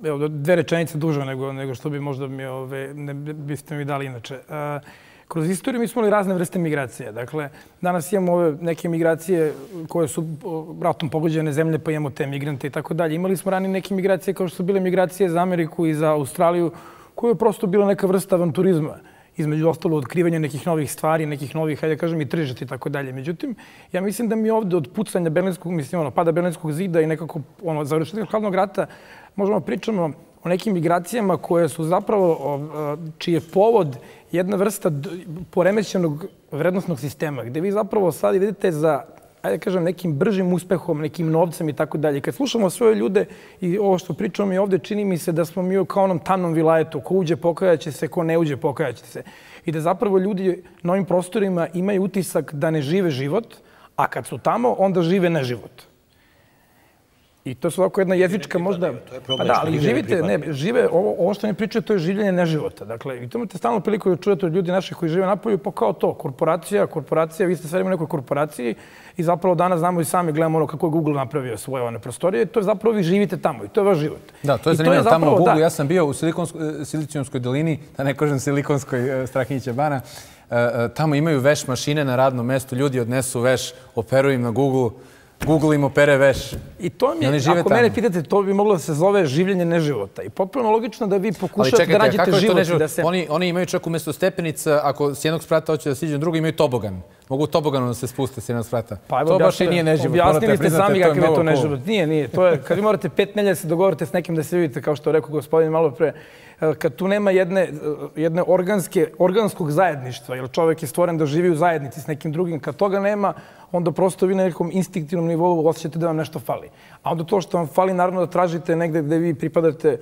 evo, dve rečenice duže nego, nego što bi možda mi, ove, ne biste mi dali inače. A, kroz istoriju mi smo imali razne vrste migracije. Dakle, danas imamo ove neke migracije koje su ratom pogođene zemlje, pa imamo te migrante i tako dalje. Imali smo ranije neke migracije kao što su bile migracije za Ameriku i za Australiju, koje je prosto bila neka vrsta avanturizma. Između ostalo otkrivanja nekih novih stvari, nekih novih, hajde kažem, i tržišta i tako dalje. Međutim, ja mislim da mi ovdje od pucanja Berlinskog, mislim, ono, pada Berlinskog zida i nekako ono, završetka hladnog rata možemo pričamo o nekim migracijama koje su zapravo, čiji je povod jedna vrsta poremećenog vrednostnog sistema, gdje vi zapravo sad vidite za, ajde kažem, nekim bržim uspehom, nekim novcem i tako dalje. Kad slušamo svoje ljude i ovo što pričamo i ovdje, čini mi se da smo mi kao onom tamnom vilajetu, ko uđe pokajaće se, ko ne uđe pokajaće se. I da zapravo ljudi na ovim prostorima imaju utisak da ne žive život, a kad su tamo, onda žive neživot. I to su ovako jedna jezička možda... Pa da, ali živite, ne, žive, ovo, ovo što mi pričaju, to je življenje neživota. Dakle, i to imate stalno priliku da čujete od ljudi naših koji žive napolju, pa kao to, korporacija, korporacija, vi ste sve u nekoj korporaciji i zapravo danas znamo i sami gledamo ono kako je Google napravio svoje one prostorije i to je zapravo vi živite tamo i to je vaš život. Da, to je zanimljivo tamo u Google. Ja sam bio u Silicijumskoj dolini, da ne kažem Silikonskoj Strahinjića bana. Tamo imaju veš mašine na radnom mestu, ljudi odnesu veš, operuju im na Google. Google im opere veš. I to mi je, ako mene pitate, to bi moglo da se zove življenje neživota. I potpuno logično da vi pokušate da nađete život. Da se... oni, oni imaju čak umjesto stepenica, ako s jednog sprata hoće da siđu na drugo, imaju tobogan. Mogu toboganom da se spuste s jednog sprata. Pa, evo, to baš i nije neživot. Objasnili ste sami kakav je to neživot. Nije, nije. To je, kad vi morate pet nelja se dogovorite s nekim da se vidite, kao što rekao gospodin malo pre, kad tu nema jedne, jedne organske, organskog zajedništva, jer čovjek je stvoren da živi u zajednici s nekim drugim, kad toga nema, onda prosto vi na nekom instinktivnom nivou osjećate da vam nešto fali. A onda to što vam fali, naravno da tražite negde gde vi pripadate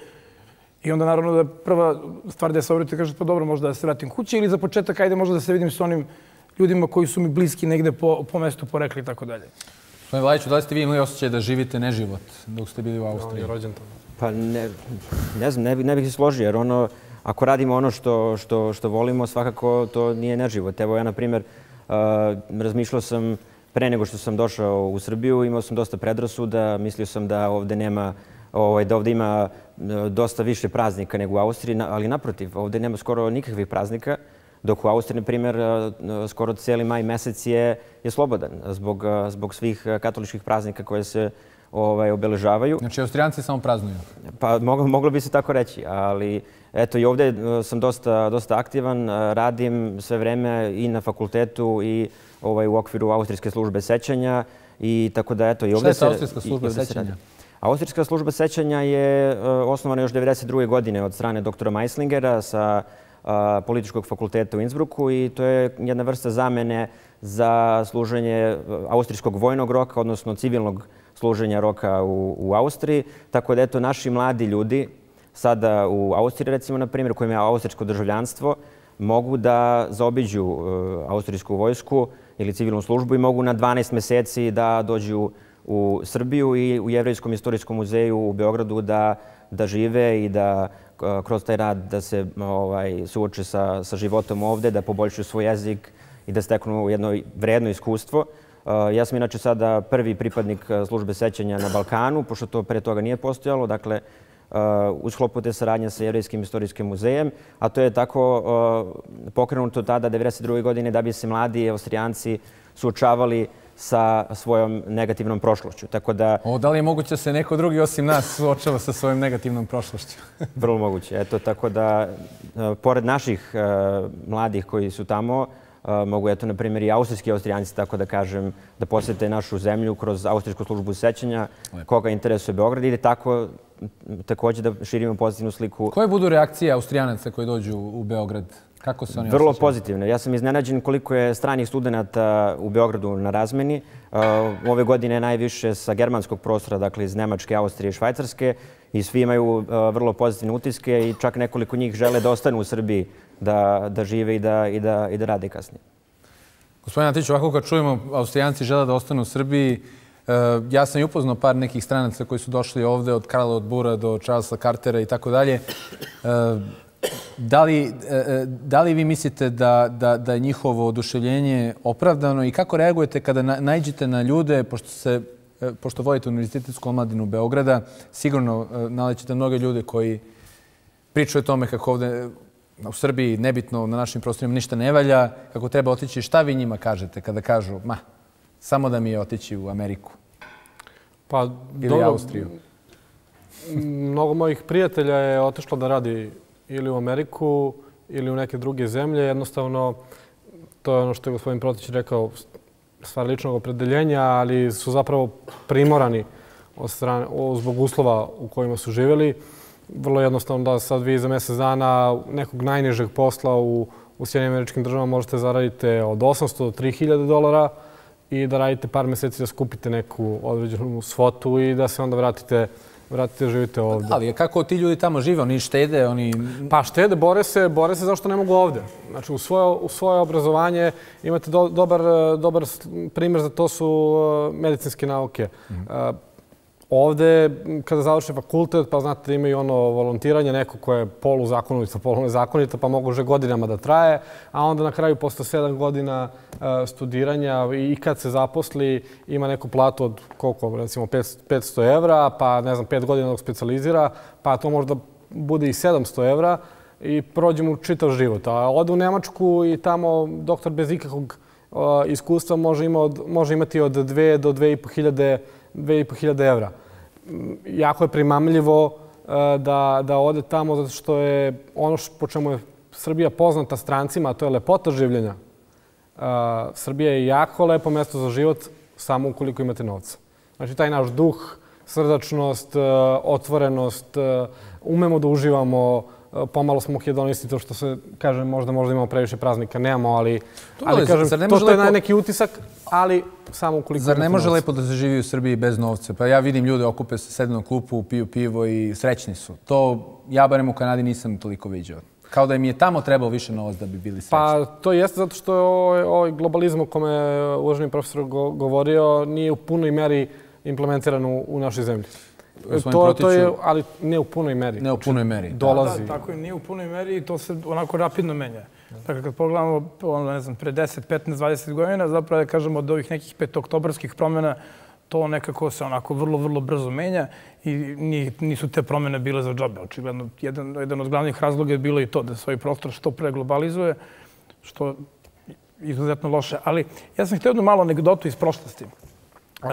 i onda naravno da prva stvar da se obrite kažete pa dobro, možda da se vratim kući ili za početak ajde možda da se vidim s onim ljudima koji su mi bliski negde po, po mestu porekli i tako dalje. Gospodin Vlajiću, da li ste vi imali osjećaj da živite neživot dok ste bili u Austriji? Pa ne, ne znam, ne, ne bih se složio jer ono, ako radimo ono što, što, što volimo, svakako to nije neživot. Evo ja, na primjer, uh, razmišljao sam pre nego što sam došao u Srbiju, imao sam dosta predrasuda, mislio sam da ovdje nema, ovaj, da ovdje ima dosta više praznika nego u Austriji, ali naprotiv, ovdje nema skoro nikakvih praznika, dok u Austriji, na primjer, skoro cijeli maj mesec je, je slobodan zbog, zbog svih katoličkih praznika koje se ovaj, obeležavaju. Znači, Austrijanci samo praznuju? Pa moglo, moglo bi se tako reći, ali eto i ovdje sam dosta, dosta aktivan, radim sve vreme i na fakultetu i ovaj, u okviru Austrijske službe sećanja i tako da eto i ovdje se... Šta je Austrijska služba sećanja? Austrijska služba sećanja je osnovana još devedeset druge godine od strane doktora Meislingera sa političkog fakulteta u Innsbrucku i to je jedna vrsta zamene za služenje austrijskog vojnog roka, odnosno civilnog služenja roka u, u Austriji. Tako da eto naši mladi ljudi sada u Austriji, recimo, na primjer, koji imaju austrijsko državljanstvo, mogu da zaobiđu uh, austrijsku vojsku ili civilnu službu i mogu na dvanaest meseci da dođu u Srbiju i u Jevrejskom istorijskom muzeju u Beogradu da, da žive i da uh, kroz taj rad da se ovaj, suoče sa, sa životom ovde, da poboljšaju svoj jezik i da steknu jedno vredno iskustvo. Uh, ja sam inače sada prvi pripadnik službe sećanja na Balkanu, pošto to pre toga nije postojalo. Dakle, u sklopu te saradnje sa Jevrejskim istorijskim muzejem, a to je tako pokrenuto tada devedeset druge godine da bi se mladi Austrijanci suočavali sa svojom negativnom prošlošću. Tako da... O, da li je moguće da se neko drugi osim nas suočava sa svojom negativnom prošlošću? Vrlo moguće. Eto, tako da, pored naših mladih koji su tamo, mogu, eto, na primjer, i austrijski austrijanci, tako da kažem, da posjete našu zemlju kroz Austrijsku službu sećanja, koga interesuje Beograd, ili tako također da širimo pozitivnu sliku. Koje budu reakcije Austrijanaca koji dođu u Beograd? Kako se oni Vrlo osjećaju? pozitivne. Ja sam iznenađen koliko je stranih studenta u Beogradu na razmeni. Ove godine je najviše sa germanskog prostora, dakle iz Nemačke, Austrije i Švajcarske, i svi imaju vrlo pozitivne utiske i čak nekoliko njih žele da ostanu u Srbiji, da, da žive i da, i, da, i da rade kasnije. Gospodin Atić, ovako kad čujemo Austrijanci žele da ostanu u Srbiji, ja sam i upoznao par nekih stranaca koji su došli ovde, od Karla od Bura do Charlesa Cartera i tako dalje. Da li, da li vi mislite da, da, da je njihovo oduševljenje opravdano i kako reagujete kada naiđete na ljude, pošto, se, pošto vodite Univerzitetsku omladinu Beograda, sigurno nalećete mnoge ljude koji pričaju o tome kako ovde u Srbiji, nebitno na našim prostorima, ništa ne valja, kako treba otići. Šta vi njima kažete kada kažu, ma, samo da mi je otići u Ameriku pa, ili dobro, Austriju? Mnogo mojih prijatelja je otišlo da radi ili u Ameriku ili u neke druge zemlje. Jednostavno, to je ono što je gospodin Protić rekao, stvar ličnog opredeljenja, ali su zapravo primorani od strane, zbog uslova u kojima su živjeli. Vrlo jednostavno da sad vi za mjesec dana nekog najnižeg posla u, u Sjedinjenim Američkim Državama možete zaraditi od osamsto do tri hiljade dolara i da radite par mjeseci da skupite neku određenu svotu i da se onda vratite vratite, živite ovdje. Ali kako ti ljudi tamo žive? Oni štede? Oni... Pa štede, bore se, bore se zašto ne mogu ovdje. Znači, u svoje, u svoje obrazovanje imate do, dobar, dobar primjer za to su medicinske nauke. Mm-hmm. Uh, ovdje, kada završi fakultet, pa znate da imaju ono volontiranje, neko koje je poluzakonito, polunezakonito, pa može godinama da traje, a onda na kraju, posle sedam godina uh, studiranja i kad se zaposli, ima neku platu od koliko, recimo petsto evra, pa ne znam, pet godina dok specijalizira, pa to možda bude i sedamsto evra i prođe mu čitav život. A ode u Nemačku i tamo doktor bez ikakvog uh, iskustva može, ima od, može imati od dve do dve i po hiljade dve i po hiljade evra. Jako je primamljivo da, da ode tamo zato što je ono po čemu je Srbija poznata strancima, a to je lepota življenja. Srbija je jako lepo mjesto za život samo ukoliko imate novca. Znači taj naš duh, srdačnost, otvorenost, umemo da uživamo, pomalo smo hedonisti, to što se kaže možda možda imamo previše praznika, nemamo, ali, ali kažem, to, to je lepo... neki utisak, ali samo ukoliko... Zar ne može lepo da se živi u Srbiji bez novca? Pa ja vidim ljude okupe se, sednu na klupu, piju pivo i srećni su. To ja barem u Kanadi nisam toliko viđao. Kao da im je tamo trebalo više novac da bi bili srećni. Pa to jeste zato što je ovaj, ovaj globalizam o kome je uvaženi profesor govorio nije u punoj meri implementiran u, u našoj zemlji. To, to je, ali ne u punoj meri. Ne u punoj meri. Dolazi. Da, tako je, nije u punoj meri i to se onako rapidno menja. Dakle, kad pogledamo, ono, ne znam, pre deset, petnaest, dvadeset godina, zapravo da kažemo od ovih nekih petoktobarskih promjena, to nekako se onako vrlo, vrlo brzo menja i nisu te promjene bile za džabe. Očigledno, jedan, jedan od glavnih razloga je bilo i to da svoj prostor što pre globalizuje, što je izuzetno loše. Ali ja sam htio jednu malu anegdotu iz prošlosti. Uh,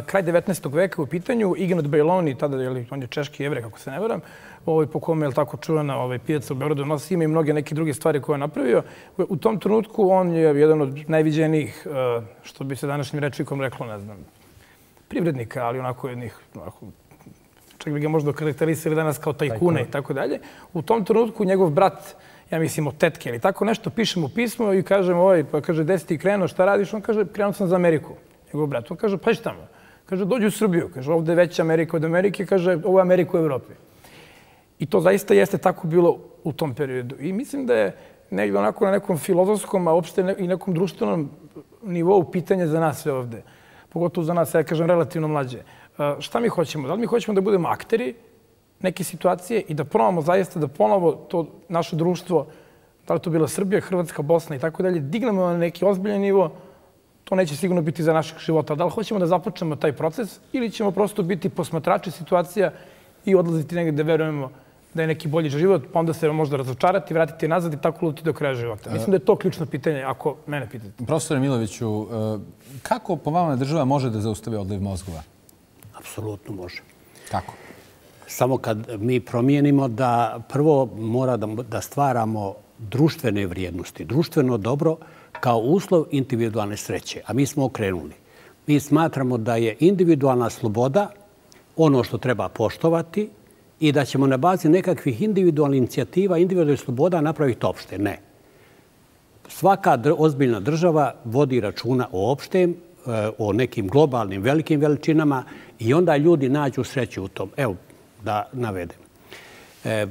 kraj devetnaestog veka u pitanju, Ignat Bajloni, tada je, on je češki jevrej, kako se ne veram, ovaj, po kome je tako čuvena ovaj, pijaca u Beogradu, nosi ime i mnoge neke druge stvari koje je napravio. U tom trenutku on je jedan od najviđenijih, uh, što bi se današnjim rečnikom reklo, ne znam, privrednika, ali onako jednih, onako, čak bi ga možda karakterisali danas kao tajkune i tako dalje. U tom trenutku njegov brat, ja mislim od tetke ili tako nešto, piše mu pismo i kaže mu, ovaj, pa kaže, gde si ti krenuo, šta radiš? On kaže, krenuo sam za Ameriku. Njegov brat. On kaže, pa šta tamo? Kaže, dođi u Srbiju. Kaže, ovdje je veća Amerika od Amerike. Kaže, ovo je Amerika u Evropi. I to zaista jeste tako bilo u tom periodu. I mislim da je negdje onako na nekom filozofskom, a uopšte i nekom društvenom nivou pitanje za nas sve ovdje. Pogotovo za nas, ja kažem, relativno mlađe. Šta mi hoćemo? Da li mi hoćemo da budemo akteri neke situacije i da probamo zaista da ponovo to naše društvo, da li to bila Srbija, Hrvatska, Bosna i tako dalje, dignemo na neki ozbiljan nivo. To neće sigurno biti za našeg života. Da li hoćemo da započnemo taj proces ili ćemo prosto biti posmatrači situacija i odlaziti negdje da verujemo da je neki bolji život, pa onda se možda razočarati, vratiti nazad i tako lutiti do kraja života. Mislim da je to ključno pitanje, ako mene pitate. Profesore Miloviću, kako po vama država može da zaustavi odliv mozgova? Apsolutno može. Kako? Samo kad mi promijenimo da prvo mora da, da stvaramo društvene vrijednosti, društveno dobro kao uslov individualne sreće. A mi smo okrenuli. Mi smatramo da je individualna sloboda ono što treba poštovati i da ćemo na bazi nekakvih individualnih inicijativa, individualnih sloboda napraviti opšte. Ne. Svaka ozbiljna država vodi računa o opštem, o nekim globalnim velikim veličinama i onda ljudi nađu sreću u tom. Evo, da navedem. E,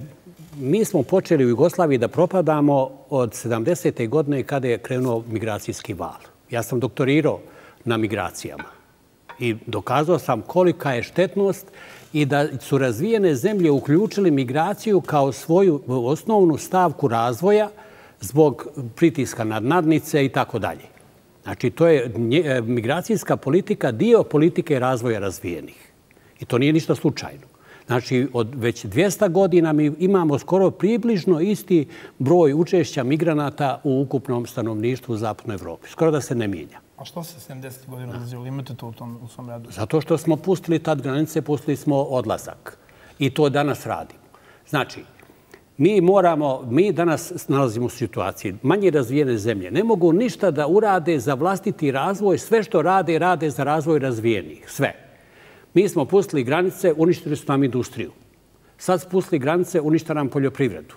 mi smo počeli u Jugoslaviji da propadamo od sedamdesete godine kada je krenuo migracijski val. Ja sam doktorirao na migracijama i dokazao sam kolika je štetnost i da su razvijene zemlje uključili migraciju kao svoju osnovnu stavku razvoja zbog pritiska nad nadnice i tako dalje. Znači, to je migracijska politika dio politike razvoja razvijenih. I to nije ništa slučajno. Znači, od već dvjesto godina mi imamo skoro približno isti broj učešća migranata u ukupnom stanovništvu u Zapadnoj Evropi. Skoro da se ne mijenja. A što se sedamdesetih godina odlazilo? Imate to u tom u svom radu? Zato što smo pustili tad granice, pustili smo odlazak. I to danas radimo. Znači, mi moramo, mi danas nalazimo u situaciji, manje razvijene zemlje ne mogu ništa da urade za vlastiti razvoj, sve što rade, rade za razvoj razvijenih. Sve. Mi smo pustili granice, uništili su nam industriju. Sad smo pustili granice, uništili nam poljoprivredu.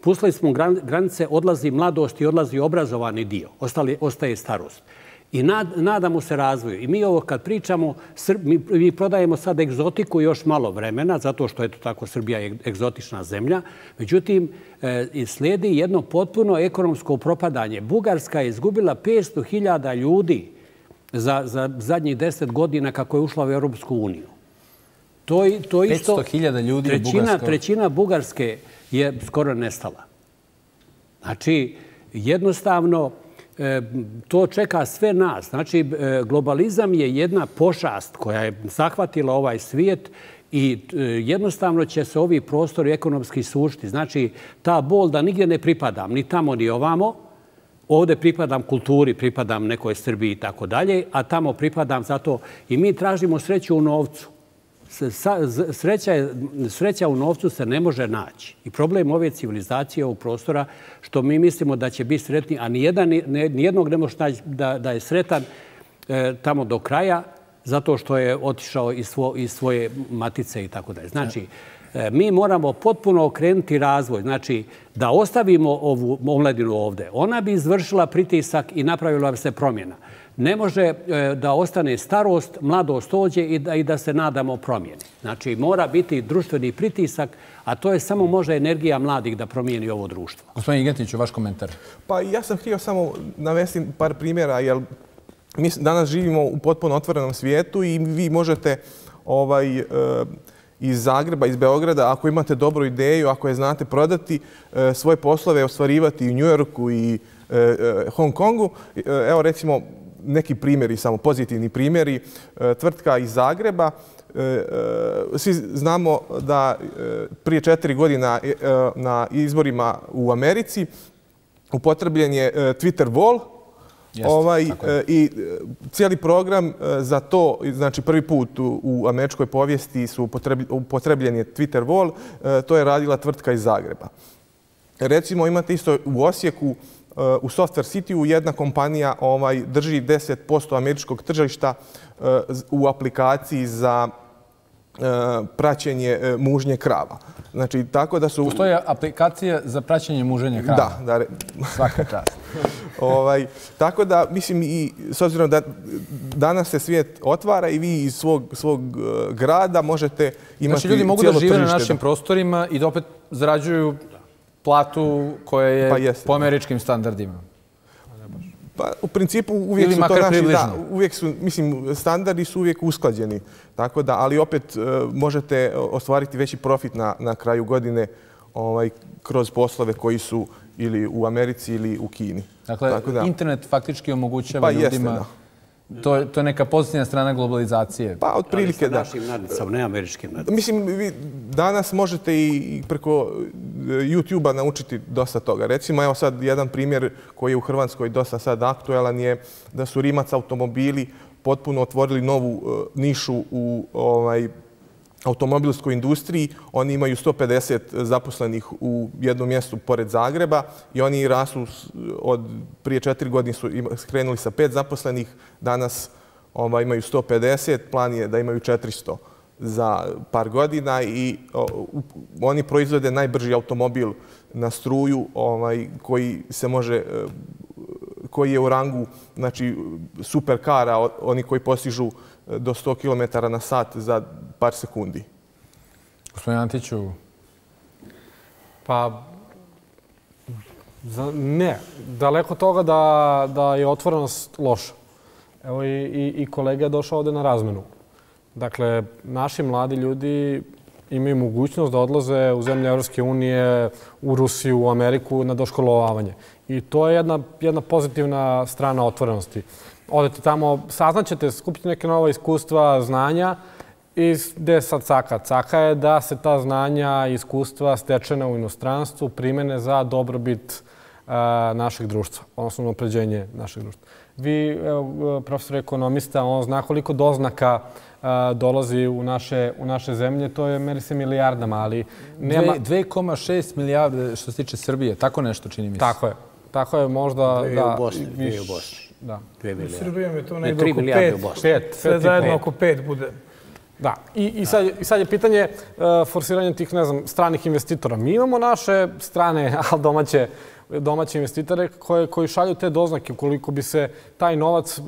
Pustili smo granice, odlazi mladost i odlazi obrazovani dio. Ostali, ostaje starost. I nad, nadamo se razvoju. I mi ovo kad pričamo, mi, mi prodajemo sad egzotiku još malo vremena, zato što eto tako Srbija je egzotična zemlja. Međutim, e, slijedi jedno potpuno ekonomsko propadanje. Bugarska je izgubila petsto hiljada ljudi za, za zadnjih deset godina kako je ušla u Europsku uniju. To, to isto, petsto hiljada ljudi trećina, u Bugarskoj. Trećina Bugarske je skoro nestala. Znači, jednostavno, to čeka sve nas. Znači, globalizam je jedna pošast koja je zahvatila ovaj svijet i jednostavno će se ovi prostori ekonomski sušiti. Znači, ta bol da nigdje ne pripadam, ni tamo ni ovamo, ovdje pripadam kulturi, pripadam nekoj Srbiji i tako dalje, a tamo pripadam zato i mi tražimo sreću u novcu. Sreća, je, sreća u novcu se ne može naći. I problem ove civilizacije ovog prostora što mi mislimo da će biti sretni, a nijedan, nijednog ne može naći da, da je sretan e, tamo do kraja zato što je otišao iz, svo, iz svoje matice i tako dalje. Znači, e, mi moramo potpuno okrenuti razvoj. Znači, da ostavimo ovu omladinu ovdje. Ona bi izvršila pritisak i napravila bi se promjena. Ne može da ostane starost, mladost ođe i da, i da se nadamo promjeni. Znači, mora biti društveni pritisak, a to je samo može energija mladih da promijeni ovo društvo. Gospodin Igetiću, vaš komentar. Pa ja sam htio samo navesti par primjera, jer mi danas živimo u potpuno otvorenom svijetu i vi možete ovaj, iz Zagreba, iz Beograda, ako imate dobru ideju, ako je znate prodati, svoje poslove ostvarivati i u Njujorku i Hong Kongu. Evo recimo, neki primjeri, samo pozitivni primjeri. Tvrtka iz Zagreba. Svi znamo da prije četiri godina na izborima u Americi upotrebljen je Twitter wall. Jeste, ovaj, i cijeli program za to, znači prvi put u, u američkoj povijesti su upotrebljen je Twitter wall. To je radila tvrtka iz Zagreba. Recimo imate isto u Osijeku, u Software City-u jedna kompanija ovaj, drži deset posto američkog tržišta u aplikaciji za praćenje mužnje krava. Znači, tako da su... Postoje aplikacija za praćenje muženja krava? Da, da. Svaka čast. ovaj, tako da, mislim, i s obzirom da danas se svijet otvara i vi iz svog, svog grada možete imati cijelo tržište. Znači, ljudi mogu da žive na našim prostorima i da opet zarađuju platu koja je pa jest, po američkim standardima. Pa, u principu uvijek su to naši, da, uvijek su, mislim, standardi su uvijek usklađeni. Tako da, ali opet možete ostvariti veći profit na, na kraju godine ovaj, kroz poslove koji su ili u Americi ili u Kini. Dakle, Tako da, internet faktički omogućava pa ljudima jeste, To je, to je neka pozitivna strana globalizacije. Pa, otprilike da. Našim nadnicama, ne američkim nadnicama. Mislim, vi danas možete i preko YouTube-a naučiti dosta toga. Recimo, evo sad jedan primjer koji je u Hrvatskoj dosta sad aktuelan je da su Rimac automobili potpuno otvorili novu nišu u ovaj, automobilskoj industriji. Oni imaju sto pedeset zaposlenih u jednom mjestu pored Zagreba i oni rastu od prije četiri godine su skrenuli sa pet zaposlenih, danas ovaj, imaju sto pedeset, plan je da imaju četiristo za par godina i o, oni proizvode najbrži automobil na struju ovaj, koji se može, koji je u rangu znači, superkara, oni koji postižu do sto kilometara na sat za par sekundi. Gospodin Antiću? Pa, za, ne. Daleko toga da, da je otvorenost loša. Evo i, i, i kolega je došao ovde na razmenu. Dakle, naši mladi ljudi imaju mogućnost da odlaze u zemlje Evropske unije, u Rusiju, u Ameriku na doškolovavanje. I to je jedna, jedna pozitivna strana otvorenosti. Odete tamo, saznaćete, skupite neke nova iskustva, znanja i gde je sad caka? Caka je da se ta znanja i iskustva stečena u inostranstvu primene za dobrobit a, našeg društva, odnosno napređenje našeg društva. Vi, evo, profesor ekonomista, on zna koliko doznaka a, dolazi u naše, u naše zemlje, to je meri se milijardama, ali nema... dve zarez šest milijarde što se tiče Srbije, tako nešto čini mi se. Tako je. Tako je možda... Dve da, u Bosni, viš, dve u Bosni. Da. U Srbijom je to negdje tri oko milijarde pet. u Bosni. Pet, Sve pet zajedno pet. oko pet bude. Da. I, i, sad, I sad je pitanje uh, forsiranja tih, ne znam, stranih investitora. Mi imamo naše strane, ali domaće, domaće investitore koje, koji šalju te doznake. Ukoliko bi se taj novac uh,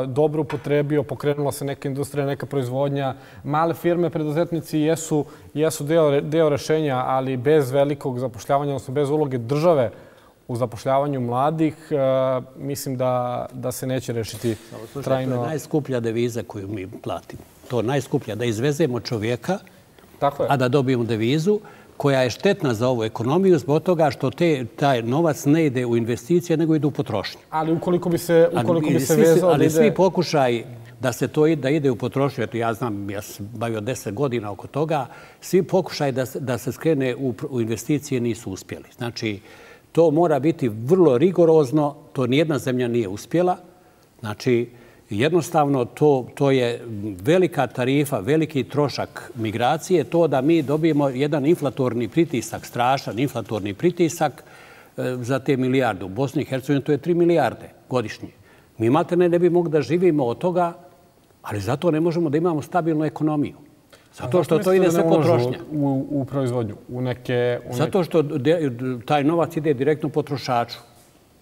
dobro upotrebio, pokrenula se neka industrija, neka proizvodnja, male firme, preduzetnici jesu, jesu deo, deo rešenja, ali bez velikog zapošljavanja, odnosno bez uloge države u zapošljavanju mladih, uh, mislim da, da se neće rešiti Slušaj, trajno. to je najskuplja deviza koju mi platimo. To je najskuplja, da izvezemo čovjeka, Tako je. a da dobijemo devizu koja je štetna za ovu ekonomiju zbog toga što te, taj novac ne ide u investicije, nego ide u potrošnju. Ali ukoliko bi se, ukoliko bi se svi, vezao... Ali ide... svi pokušaj da se to da ide u potrošnju, eto ja znam, ja sam bavio deset godina oko toga, svi pokušaj da, da se skrene u, u investicije nisu uspjeli. Znači, to mora biti vrlo rigorozno, to nijedna zemlja nije uspjela. Znači, jednostavno to, to je velika tarifa, veliki trošak migracije, to da mi dobijemo jedan inflatorni pritisak, strašan inflatorni pritisak e, za te milijarde. U Bosni i Hercegovini to je tri milijarde godišnje. Mi imate ne, ne bi mogli da živimo od toga, ali zato ne možemo da imamo stabilnu ekonomiju. Zato što to ide sve potrošnja. U, u proizvodnju, u neke... U Zato što de, taj novac ide direktno potrošaču.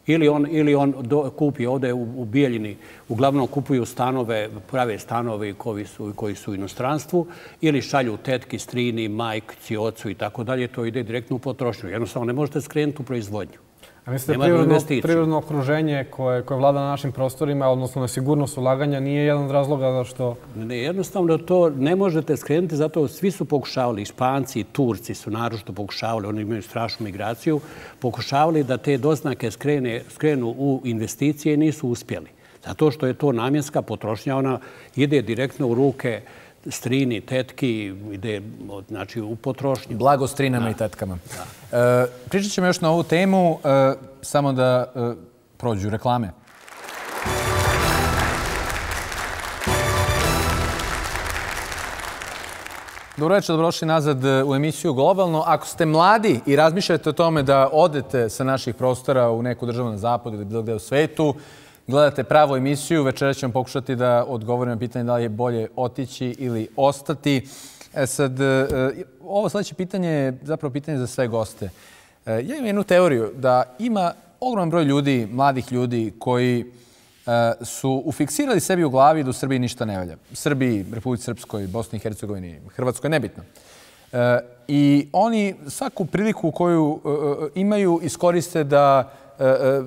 Ili on, ili on do, kupi ovdje u, u Bijeljini, uglavnom kupuju stanove, prave stanove koji su, koji su u inostranstvu, ili šalju tetki, strini, majci, ocu i tako dalje, to ide direktno u potrošnju. Jednostavno ne možete skrenuti u proizvodnju. A mislite da prirodno, prirodno okruženje koje, koje vlada na našim prostorima, odnosno nesigurnost ulaganja, nije jedan od razloga zašto... Ne, jednostavno to ne možete skrenuti, zato svi su pokušavali, i Španci i Turci su naročito pokušavali, oni imaju strašnu migraciju, pokušavali da te doznake skrene, skrenu u investicije i nisu uspjeli. Zato što je to namjenska potrošnja, ona ide direktno u ruke strini, tetki, ide znači, u potrošnju. Blago strinama da. i tetkama. E, pričat ćemo još na ovu temu, e, samo da e, prođu reklame. Dobro večer, dobrodošli nazad u emisiju Globalno. Ako ste mladi i razmišljate o tome da odete sa naših prostora u neku državu na zapadu ili bilo gde u svetu, gledate pravu emisiju, večera ćemo pokušati da odgovorimo na pitanje da li je bolje otići ili ostati. E sad, ovo sljedeće pitanje je zapravo pitanje za sve goste. Ja imam jednu teoriju da ima ogroman broj ljudi, mladih ljudi, koji su ufiksirali sebi u glavi da u Srbiji ništa ne valja. Srbiji, Republici Srpskoj, Bosni i Hercegovini, Hrvatskoj, nebitno. I oni svaku priliku koju imaju iskoriste da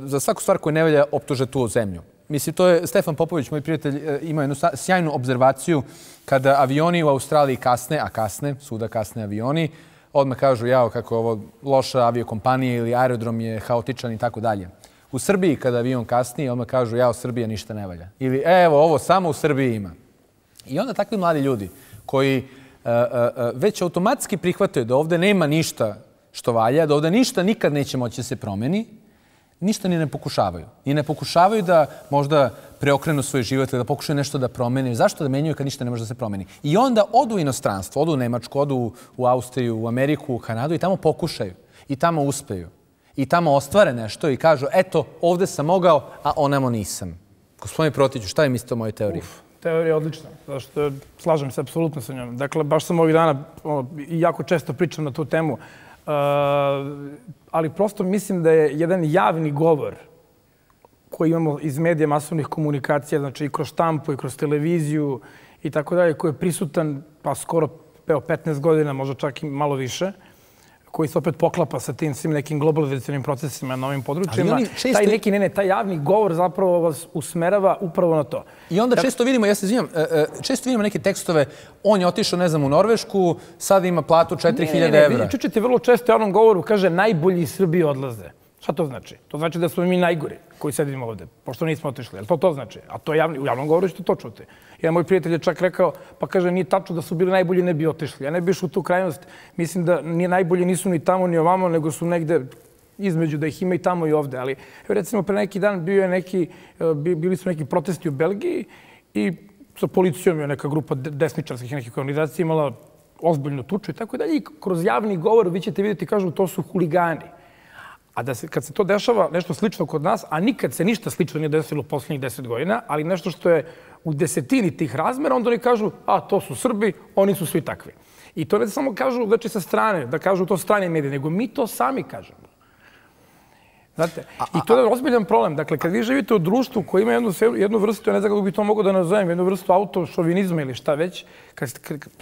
za svaku stvar koja ne valja optuže tu zemlju. Mislim, to je Stefan Popović, moj prijatelj, ima jednu sjajnu obzervaciju kada avioni u Australiji kasne, a kasne, svuda kasne avioni, odmah kažu jao kako je ovo loša aviokompanija ili aerodrom je haotičan i tako dalje. U Srbiji, kada avion kasni, odmah kažu, ja, Srbija ništa ne valja. Ili, evo, ovo samo u Srbiji ima. I onda takvi mladi ljudi koji uh, uh, već automatski prihvataju da ovde nema ništa što valja, da ovde ništa nikad neće moći da se promeni, ništa ni ne pokušavaju. I ne pokušavaju da možda preokrenu svoj život ili da pokušaju nešto da promene. Zašto da menjaju kad ništa ne može da se promeni? I onda odu u inostranstvo, odu u Nemačku, odu u Austriju, u Ameriku, u Kanadu i tamo pokušaju. I tamo uspeju. I tamo ostvare nešto i kažu, eto, ovde sam mogao, a onamo nisam. Gospodine Protiću, šta vi mislite o mojoj teoriji? Uf, teorija je odlična, zašto slažem se apsolutno sa njom. Dakle, baš sam ovih dana i jako često pričam na tu temu, ali prosto mislim da je jedan javni govor koji imamo iz medija masovnih komunikacija, znači i kroz štampu i kroz televiziju i tako dalje, koji je prisutan pa skoro petnaest godina, možda čak i malo više, koji se opet poklapa sa tim svim nekim globalizacijnim procesima na ovim područjima. Često... Taj neki, ne, ne, taj javni govor zapravo vas usmerava upravo na to. I onda često vidimo, ja se izvinjam, često vidimo neke tekstove, on je otišao, ne znam, u Norvešku, sad ima platu četiri hiljade evra. Ne, ne, čučete vrlo često u javnom govoru, kaže, najbolji iz Srbije odlaze. Šta to znači? To znači da smo mi najgori koji sedimo ovde, pošto nismo otišli. Jel to to znači? A to javni, u javnom govoru ćete to čuti. Jedan moj prijatelj je čak rekao, pa kaže, nije tačno da su bili najbolji, ne bi otišli. Ja ne bi išao u tu krajnost. Mislim da nije najbolji nisu ni tamo ni ovamo, nego su negde između da ih ima i tamo i ovde. Ali recimo pre neki dan bio je neki, bili su neki protesti u Belgiji i sa policijom je neka grupa desničarskih nekih organizacija imala ozbiljnu tuču i tako dalje. I kroz javni govor vi ćete vidjeti, kažu, to su huligani. A da se, kad se to dešava nešto slično kod nas, a nikad se ništa slično nije desilo u posljednjih deset godina, ali nešto što je u desetini tih razmera, onda oni kažu, a to su Srbi, oni su svi takvi. I to ne samo kažu, znači sa strane, da kažu to strane medije, nego mi to sami kažemo. Znate, i to je ozbiljan problem. Dakle, kad vi živite u društvu koji ima jednu, jednu vrstu, ja ne znam kako bi to mogao da nazovem, jednu vrstu autošovinizma ili šta već, kad,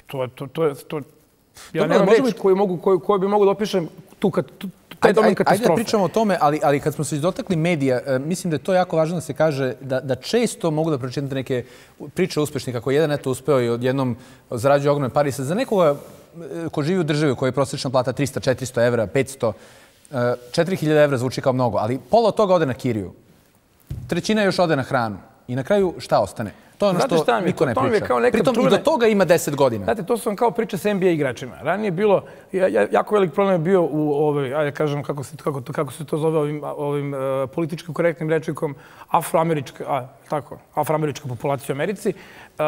to, to, to, to, ja nemam reći koju, mogu, koju, koju bi mogu da opišem tu kad, tu, Ajde, ajde, ajde da pričamo o tome, ali, ali kad smo se dotakli medija, mislim da je to jako važno da se kaže da, da često mogu da pročitate neke priče uspešnih, kako jedan eto uspeo i odjednom zarađuje ogromne pari. Za nekoga ko živi u državi koja je prosječna plata trista, četiristo evra, petsto, četiri hiljade evra zvuči kao mnogo, ali pola od toga ode na kiriju. Trećina još ode na hranu. I na kraju šta ostane? To je ono što šta niko ne priča. Pritom i do toga ima deset godina. Znate, to su vam kao priče s N B A igračima. Ranije je bilo, jako velik problem je bio u ovoj, ajde kažem kako se, kako, kako se to zove ovim, ovim uh, političkim korektnim rečnikom, afroamerička, a, tako, afroamerička populacija u Americi. Uh,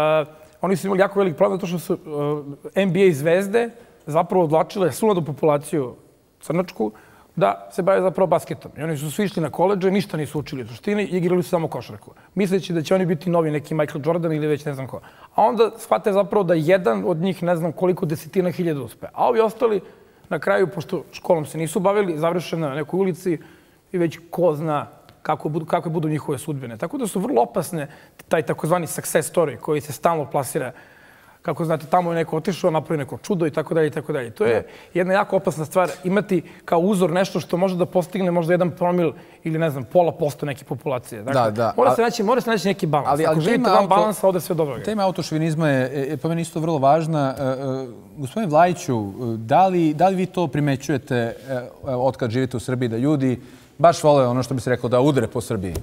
oni su imali jako velik problem zato što su uh, N B A zvezde zapravo odlačile svu populaciju crnačku da se bave zapravo basketom. I oni su svi išli na koledže, ništa nisu učili u suštini i igrali su samo košarku. Misleći da će oni biti novi neki Michael Jordan ili već ne znam ko. A onda shvate zapravo da jedan od njih ne znam koliko desetina hiljada uspe. A ovi ostali na kraju, pošto školom se nisu bavili, završeno na nekoj ulici i već ko zna kako budu, kakve budu njihove sudbine. Tako da su vrlo opasne taj takozvani success story koji se stalno plasira. Kako znate, tamo je neko otišao, napravi neko čudo i tako dalje i tako dalje. To je jedna jako opasna stvar, imati kao uzor nešto što može da postigne možda jedan promil ili ne znam, pola posto neke populacije. Dakle, da, da. Mora se naći, mora se naći neki balans. Ali, ali Ako želite van balansa, ovdje sve dobro. Tema autošovinizma je, je po meni isto vrlo važna. Uh, uh, gospodin Vlajiću, da li, da li vi to primećujete uh, otkad živite u Srbiji, da ljudi baš vole ono što bi se reklo da udre po Srbiji?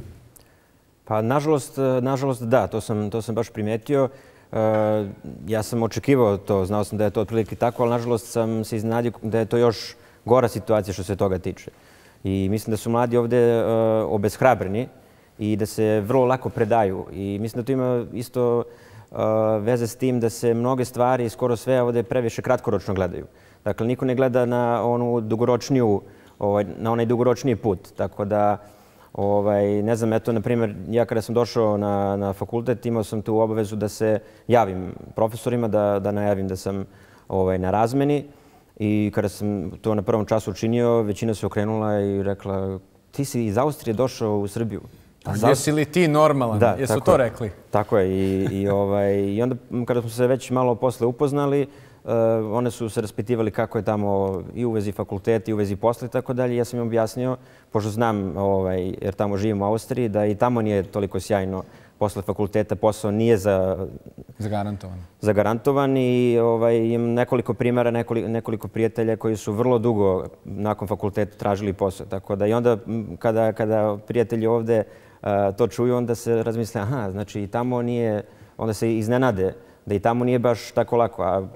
Pa, nažalost, nažalost da, to sam, to sam baš primetio. Uh, ja sam očekivao to, znao sam da je to otprilike tako, ali nažalost sam se iznenadio da je to još gora situacija što se toga tiče. I mislim da su mladi ovdje uh, obeshrabreni i da se vrlo lako predaju. I mislim da to ima isto uh, veze s tim da se mnoge stvari, skoro sve ovdje previše kratkoročno gledaju. Dakle, niko ne gleda na onu dugoročniju, ovaj, na onaj dugoročniji put. Tako da, Ovaj, ne znam, eto, na primjer, ja kada sam došao na, na fakultet, imao sam tu obavezu da se javim profesorima, da, da najavim da sam ovaj, na razmeni. I kada sam to na prvom času učinio, većina se okrenula i rekla, ti si iz Austrije došao u Srbiju. A jesi li ti normalan? Da, jesu tako to je, rekli? Tako je. I, i, ovaj, i onda kada smo se već malo posle upoznali, Uh, one su se raspitivali kako je tamo i u vezi fakulteta i u vezi posla i tako dalje. Ja sam im objasnio, pošto znam, ovaj, jer tamo živim u Austriji, da i tamo nije toliko sjajno posle fakulteta posao nije za... Zagarantovan. Zagarantovan i ovaj, imam nekoliko primjera, nekoliko, nekoliko prijatelja koji su vrlo dugo nakon fakulteta tražili posao. Tako da i onda kada, kada prijatelji ovde uh, to čuju, onda se razmisle, aha, znači i tamo nije, onda se iznenade da i tamo nije baš tako lako. A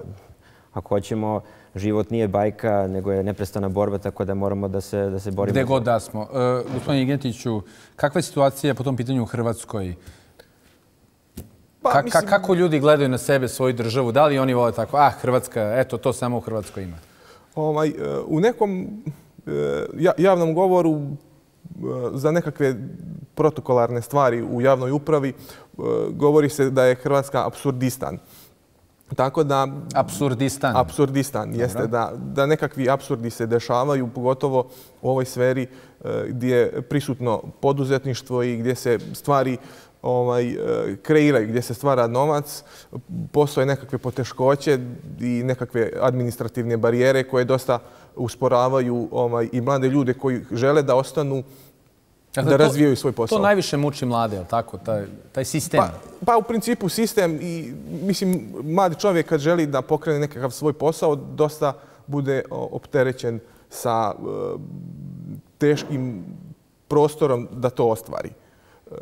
ako hoćemo, život nije bajka, nego je neprestana borba, tako da moramo da se, da se borimo. Gde god da smo. Uh, gospodine Igentiću, kakva je situacija po tom pitanju u Hrvatskoj? Pa, Ka, mislim... Kako ljudi gledaju na sebe, svoju državu? Da li oni vole tako, ah, Hrvatska, eto, to samo u Hrvatskoj ima? Ovaj, u nekom javnom govoru za nekakve protokolarne stvari u javnoj upravi govori se da je Hrvatska apsurdistan. Tako da... Apsurdistan. Apsurdistan, jeste. Da, da nekakvi apsurdi se dešavaju, pogotovo u ovoj sferi gdje je prisutno poduzetništvo i gdje se stvari ovaj, kreiraju, gdje se stvara novac. Postoje nekakve poteškoće i nekakve administrativne barijere koje dosta usporavaju ovaj, i mlade ljude koji žele da ostanu, dakle, da razvijaju svoj posao. To najviše muči mlade, je li tako? Taj, taj sistem? Pa, pa u principu sistem i mislim, mladi čovjek kad želi da pokrene nekakav svoj posao, dosta bude opterećen sa uh, teškim prostorom da to ostvari. Uh,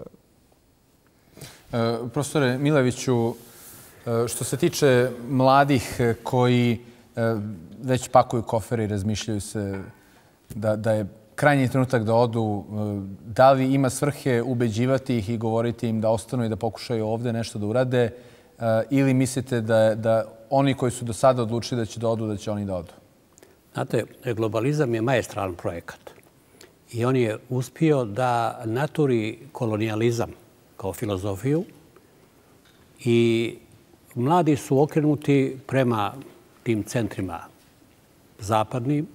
profesore Mileviću, uh, što se tiče mladih koji uh, već pakuju kofere i razmišljaju se da, da je krajnji trenutak da odu, da li ima svrhe ubeđivati ih i govoriti im da ostanu i da pokušaju ovdje nešto da urade, ili mislite da, da oni koji su do sada odlučili da će da odu, da će oni da odu? Znate, globalizam je maestralan projekat i on je uspio da naturi kolonijalizam kao filozofiju i mladi su okrenuti prema tim centrima zapadnim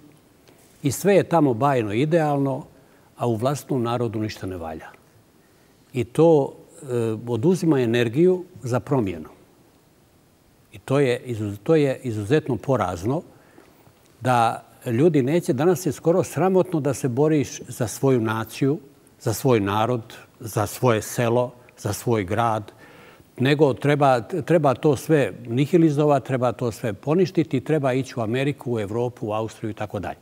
i sve je tamo bajno idealno, a u vlastnom narodu ništa ne valja. I to e, oduzima energiju za promjenu. I to je, izuz, to je izuzetno porazno da ljudi neće, danas je skoro sramotno da se boriš za svoju naciju, za svoj narod, za svoje selo, za svoj grad, nego treba, treba to sve nihilizovati, treba to sve poništiti, treba ići u Ameriku, u Evropu, u Austriju i tako dalje.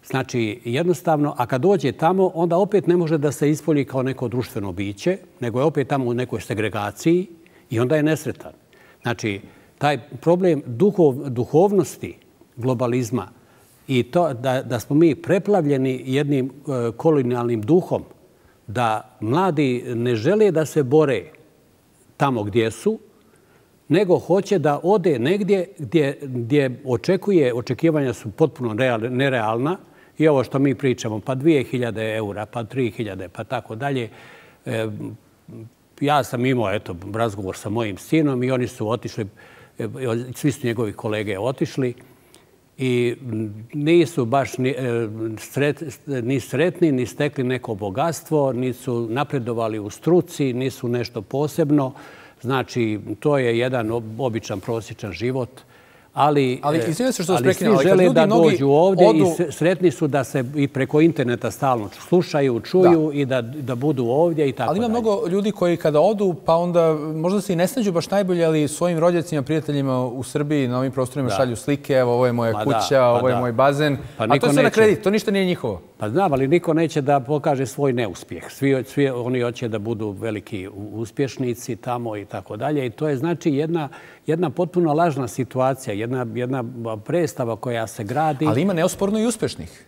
Znači, jednostavno, a kad dođe tamo, onda opet ne može da se ispolji kao neko društveno biće, nego je opet tamo u nekoj segregaciji i onda je nesretan. Znači, taj problem duhov, duhovnosti globalizma i to da, da smo mi preplavljeni jednim e, kolonijalnim duhom, da mladi ne žele da se bore tamo gdje su, nego hoće da ode negdje gdje, gdje očekuje, očekivanja su potpuno nerealna i ovo što mi pričamo, pa dvije hiljade eura, pa tri hiljade, pa tako dalje. E, ja sam imao eto, razgovor sa mojim sinom i oni su otišli, svi su njegovi kolege otišli i nisu baš ni, sret, ni sretni, ni stekli neko bogatstvo, nisu napredovali u struci, nisu nešto posebno. Znači, to je jedan običan, prosječan život. Ali, ali, ali svi žele da dođu ovdje odu... i sretni su da se i preko interneta stalno slušaju, čuju da. i da, da budu ovdje i tako ali ima dalje. mnogo ljudi koji kada odu, pa onda možda se i ne snađu baš najbolje, ali svojim rođacima, prijateljima u Srbiji na ovim prostorima da. šalju slike, evo ovo je moja pa kuća, da, pa ovo je da. moj bazen, pa a to je sve na kredit, to ništa nije njihovo. Pa znam, ali niko neće da pokaže svoj neuspjeh. Svi, svi oni hoće da budu veliki uspješnici tamo i tako dalje. I to je znači jedna, jedna potpuno lažna situacija, jedna, jedna predstava koja se gradi. Ali ima neosporno i uspješnih.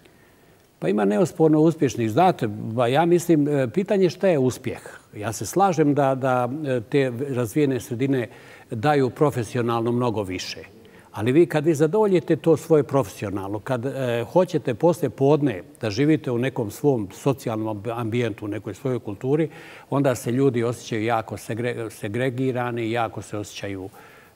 Pa ima neosporno uspješnih. Znate, ja mislim, pitanje šta je uspjeh. Ja se slažem da, da te razvijene sredine daju profesionalno mnogo više. Ali vi kad vi zadovoljite to svoje profesionalno, kad e, hoćete posle podne da živite u nekom svom socijalnom ambijentu, u nekoj svojoj kulturi, onda se ljudi osjećaju jako segre, segregirani, jako se osjećaju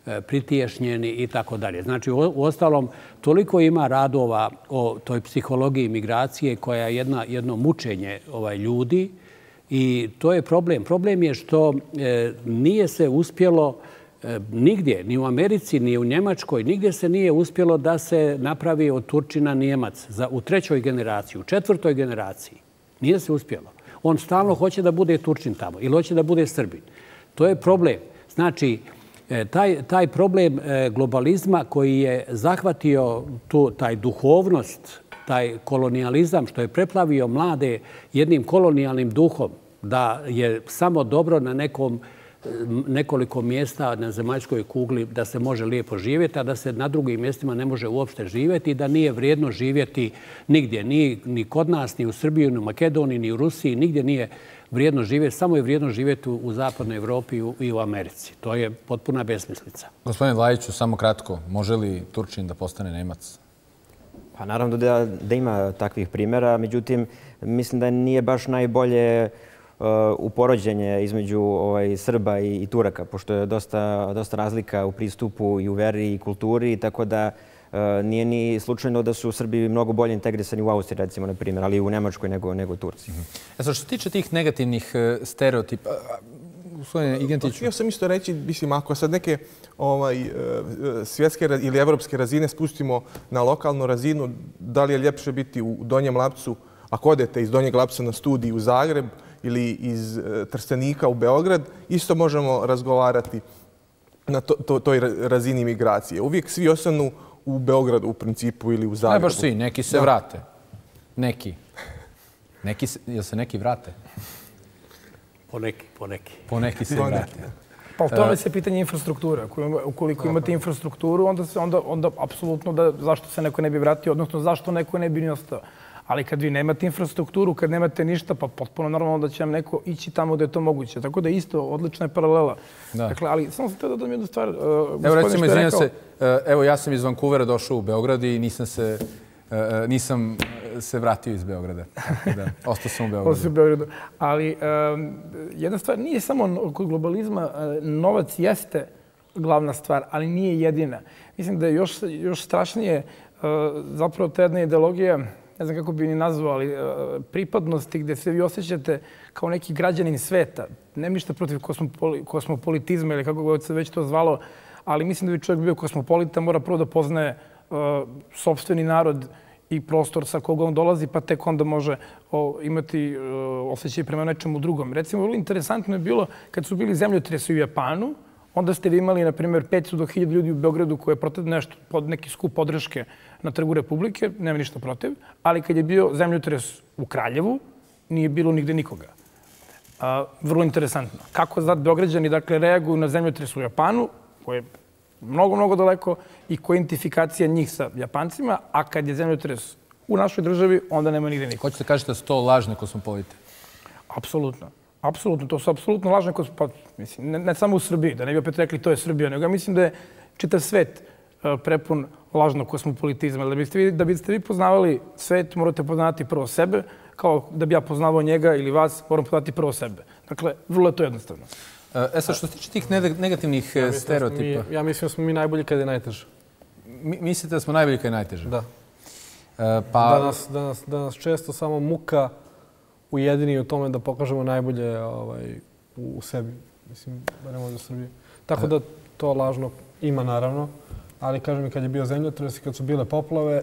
e, pritiješnjeni i tako dalje. Znači, u, u ostalom, toliko ima radova o toj psihologiji migracije koja je jedna, jedno mučenje ovaj, ljudi i to je problem. Problem je što e, nije se uspjelo nigdje, ni u Americi, ni u Njemačkoj, nigdje se nije uspjelo da se napravi od Turčina Nijemac za, u trećoj generaciji, u četvrtoj generaciji. Nije se uspjelo. On stalno hoće da bude Turčin tamo ili hoće da bude Srbin. To je problem. Znači, taj, taj problem globalizma koji je zahvatio tu, taj duhovnost, taj kolonijalizam što je preplavio mlade jednim kolonijalnim duhom, da je samo dobro na nekom nekoliko mjesta na zemaljskoj kugli da se može lijepo živjeti, a da se na drugim mjestima ne može uopšte živjeti i da nije vrijedno živjeti nigdje, ni, ni kod nas, ni u Srbiji, ni u Makedoniji, ni u Rusiji, nigdje nije vrijedno živjeti, samo je vrijedno živjeti u, u zapadnoj Evropi i u, i u Americi. To je potpuna besmislica. Gospodine Vlajiću, samo kratko, može li Turčin da postane Nemac? Pa naravno da, da ima takvih primjera, međutim, mislim da nije baš najbolje u porođenje između ovaj, Srba i, i Turaka, pošto je dosta, dosta razlika u pristupu i u veri i kulturi, tako da uh, nije ni slučajno da su Srbi mnogo bolje integrisani u Austriji, recimo, na primjer, ali i u Nemačkoj nego, nego Turci. E sad, što se tiče tih negativnih uh, stereotipa, gospodine Igentiću... Htio sam isto reći, mislim, ako sad neke ovaj, svjetske ili evropske razine spustimo na lokalnu razinu, da li je ljepše biti u Donjem Lapcu, ako odete iz Donjeg Lapca na studij u Zagreb, ili iz Trstenika u Beograd, isto možemo razgovarati na to, to, toj razini migracije. Uvijek svi ostanu u Beogradu u principu ili u Zagrebu. Ne baš svi, neki se da. vrate. Neki. neki se, jel se neki vrate? Poneki, poneki. Poneki se vrate. Pa u tome se pitanje infrastrukture. Ukoliko imate infrastrukturu, onda se onda, onda apsolutno da zašto se neko ne bi vratio, odnosno zašto neko ne bi ni ostao. Ali kad vi nemate infrastrukturu, kad nemate ništa, pa potpuno normalno da će vam neko ići tamo gdje je to moguće. Tako da isto, odlična je paralela. Da. Dakle, ali samo sam te da dam jednu stvar. Uh, evo recimo, izvinjam se, uh, evo ja sam iz Vancouvera došao u Beograd i nisam se, uh, nisam se vratio iz Beograda. Da, ostao sam u Beogradu. Ostao sam u Beogradu. Ali um, jedna stvar, nije samo kod globalizma, uh, novac jeste glavna stvar, ali nije jedina. Mislim da je još, još strašnije uh, zapravo ta jedna ideologija, ne znam kako bi ni nazvao, ali pripadnosti gdje se vi osjećate kao neki građanin sveta. Nema ništa protiv kosmopoli, kosmopolitizma ili kako god se već to zvalo, ali mislim da bi čovjek bio kosmopolita, mora prvo da poznaje uh, sopstveni narod i prostor sa koga on dolazi, pa tek onda može o, imati uh, osjećaj prema nečemu drugom. Recimo, vrlo interesantno je bilo kad su bili zemljotresi u Japanu, onda ste vi imali, na primjer, petsto do hiljade ljudi u Beogradu koje je protiv nešto, pod neki skup podrške na Trgu Republike, nema ništa protiv, ali kad je bio zemljotres u Kraljevu, nije bilo nigde nikoga. A, vrlo interesantno. Kako zad Beograđani dakle, reaguju na zemljotres u Japanu, koje je mnogo, mnogo daleko, i koja je identifikacija njih sa Japancima, a kad je zemljotres u našoj državi, onda nema nigde nikoga. Hoćete kažete da su to lažne kosmopolite? Apsolutno. Apsolutno, to su apsolutno lažne kosmopolite. Mislim, ne, ne samo u Srbiji, da ne bi opet rekli to je Srbija, nego ja mislim da je čitav svet uh, prepun lažnog kosmopolitizma. Da biste, vi, da biste vi poznavali svet, morate poznati prvo sebe, kao da bi ja poznavao njega ili vas, moram poznati prvo sebe. Dakle, vrlo je to jednostavno. E sad, što se tiče tih negativnih ja stereotipa... Mi, ja mislim da smo mi najbolji kada je najteže. Mi, mislite da smo najbolji kada je najteže? Da. E, pa... da, nas, da, nas, da nas često samo muka ujedini u tome da pokažemo najbolje ovaj, u, u sebi. Mislim, barem ovdje u Srbiji. Tako da to lažno ima, naravno. Ali, kažem mi, kad je bio zemljotres i kad su bile poplave,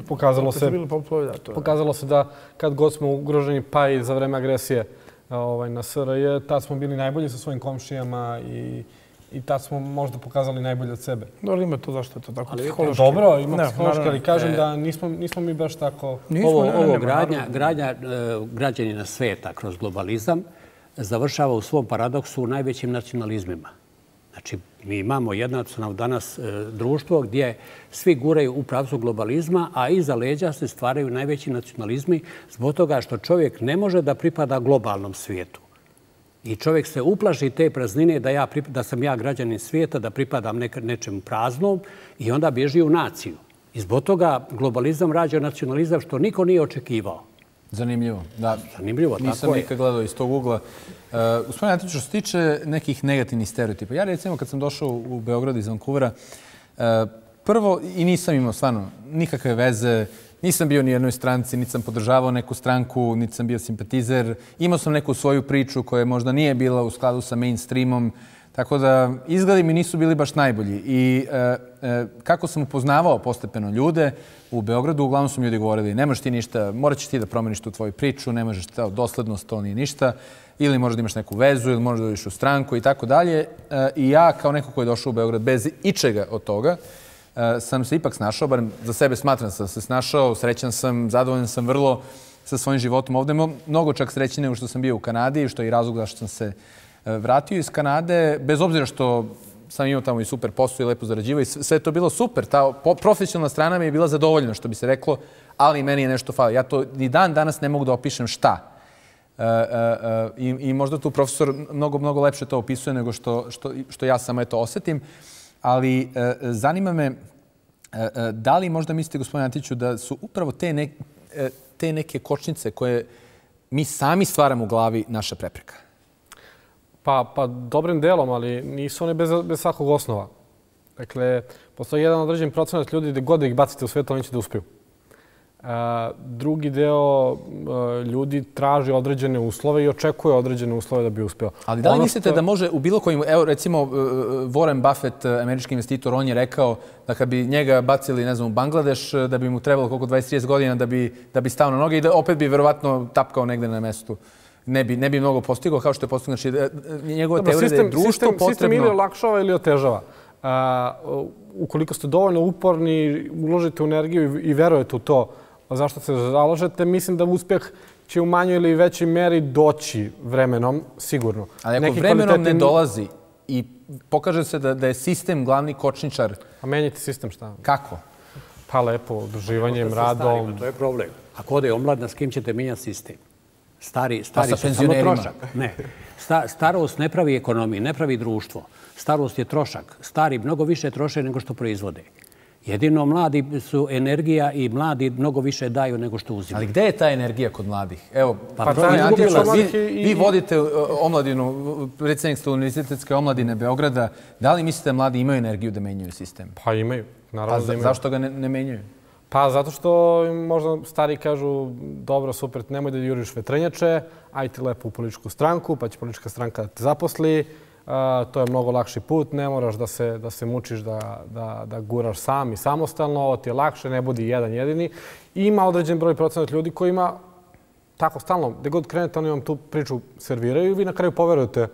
pokazalo se, poplave, da, to pokazalo se da kad god smo ugroženi, pa i za vreme agresije ovaj, na S R J, tad smo bili najbolji sa svojim komšijama i, i tad smo možda pokazali najbolje od sebe. Dobro, ima to zašto je to tako psihološki. Dobro, ima psihološki, ali kažem da nismo, nismo mi baš tako... Nismo, ovo ne, ovo ne, gradnja, gradnja građanina sveta kroz globalizam završava u svom paradoksu u najvećim nacionalizmima. Znači, mi imamo jednostavno danas e, društvo gdje svi guraju u pravcu globalizma, a iza leđa se stvaraju najveći nacionalizmi zbog toga što čovjek ne može da pripada globalnom svijetu. I čovjek se uplaši te praznine da, ja, da sam ja građanin svijeta, da pripadam nek, nečem praznom i onda bježi u naciju. I zbog toga globalizam rađa nacionalizam što niko nije očekivao. Zanimljivo. Da. Zanimljivo, tako je. Nisam nikad gledao iz tog ugla. Uh, gospodine Antiću, što se tiče nekih negativnih stereotipa, ja recimo kad sam došao u Beograd iz Vancouvera, uh, prvo, i nisam imao stvarno nikakve veze, nisam bio ni jednoj stranci, niti sam podržavao neku stranku, niti sam bio simpatizer. Imao sam neku svoju priču koja možda nije bila u skladu sa mainstreamom, Tako da izgledi mi nisu bili baš najbolji. I kako sam upoznavao postepeno ljude u Beogradu, uglavnom su mi ljudi govorili ne možeš ti ništa, morat ćeš ti da promeniš tu tvoju priču, ne možeš doslednost, to nije ništa. Ili možeš da imaš neku vezu, ili možeš da ideš u stranku i tako dalje. I ja, kao neko koji je došao u Beograd bez ičega od toga, sam se ipak snašao, barem za sebe smatram sam se snašao, srećan sam, zadovoljan sam vrlo sa svojim životom ovde. Mnogo čak srećnije nego što sam bio u Kanadi, što je i razlog zašto sam se vratio iz Kanade, bez obzira što sam imao tamo i super posao i lepo zarađivao i sve je to bilo super. Ta profesionalna strana mi je bila zadovoljna, što bi se reklo, ali meni je nešto falo. Ja to ni dan danas ne mogu da opišem šta. I možda tu profesor mnogo, mnogo lepše to opisuje nego što ja samo to osetim. Ali zanima me, da li možda mislite, gospodine Antiću, da su upravo te neke kočnice koje mi sami stvaramo u glavi naša prepreka? Pa dobrim delom, ali nisu one bez svakog osnova. Dakle, postoji jedan određen procenat ljudi gde god da ih bacite u svijetu, oni će da uspiju. Drugi deo ljudi traži određene uslove i očekuje određene uslove da bi uspeo. Ali da li mislite da može u bilo kojim... Evo, recimo, Warren Buffett, američki investitor, on je rekao da kad bi njega bacili, ne znam, u Bangladeš, da bi mu trebalo koliko dvadeset trideset godina da bi stao na noge i da opet bi verovatno tapkao negde na mestu. Ne bi mnogo postigao kao što je postigao. Znači, njegova teorija da je društvo potrebno... Sistem ili olakšava ili otežava. Ukoliko ste dovoljno uporni, uložite energiju i verujete u to zašto se zalažete, mislim da uspjeh će u manjoj ili većoj meri doći vremenom, sigurno. Ali ako vremenom ne dolazi i pokaže se da je sistem glavni kočničar... A menjate sistem šta? Kako? Pa lepo, udruživanjem, radom... To je problem. Ako ode omladna, s kim ćete menjati sistem? Stari sa penzionerima. Ne. Starost ne pravi ekonomiju, ne pravi društvo. Starost je trošak. Stari mnogo više troše nego što proizvode. Jedino mladi su energija i mladi mnogo više daju nego što uzimaju. Ali gde je ta energija kod mladih? Evo, vi vodite omladinu, predsjednik ste Univerzitetske omladine Beograda. Da li mislite da mladi imaju energiju da menjaju sistem? Pa imaju. Pa zašto ga ne menjaju? Pa zato što možda stari kažu dobro, super, nemoj da juriš vetrenjače, aj ti lepo u političku stranku, pa će politička stranka da te zaposli. To je mnogo lakši put, ne moraš da se mučiš da guraš sam i samostalno, ovo ti je lakše, ne budi jedan jedini. I ima određen broj procenat ljudi koji ima tako stalno, gde god krenete, oni vam tu priču serviraju i vi na kraju poverujete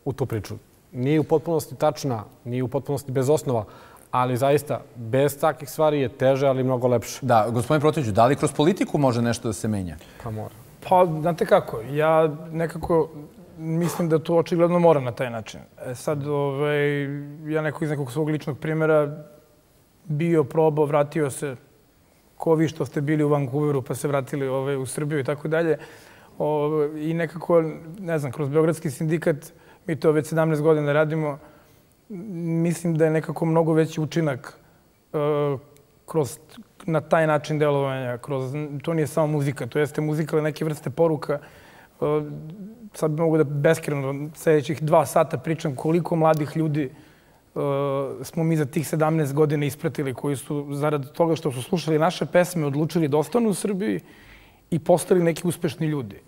u tu priču. Nije u potpunosti tačna, nije u potpunosti bez osnova, ali zaista, bez takvih stvari je teže, ali mnogo lepše. Da, gospodin Protiću, da li kroz politiku može nešto da se menja? Pa mora. Pa, znate kako, ja nekako mislim da to očigledno mora na taj način. Sad, ja neko iz nekog svog ličnog primjera bio, probao, vratio se, ko vi što ste bili u Vancouveru pa se vratili u Srbiju i tako dalje. I nekako, ne znam, kroz Beogradski sindikat, mi to već sedamnaest godina radimo, mislim da je nekako mnogo veći učinak na taj način delovanja. To nije samo muzika, to jeste muzika ili neke vrste poruka. Sad bi mogu da beskreno sljedećih dva sata pričam koliko mladih ljudi smo mi za tih sedamnaest godina ispratili koji su zarad toga što su slušali naše pesme odlučili da ostanu u Srbiji i postali neki uspešni ljudi.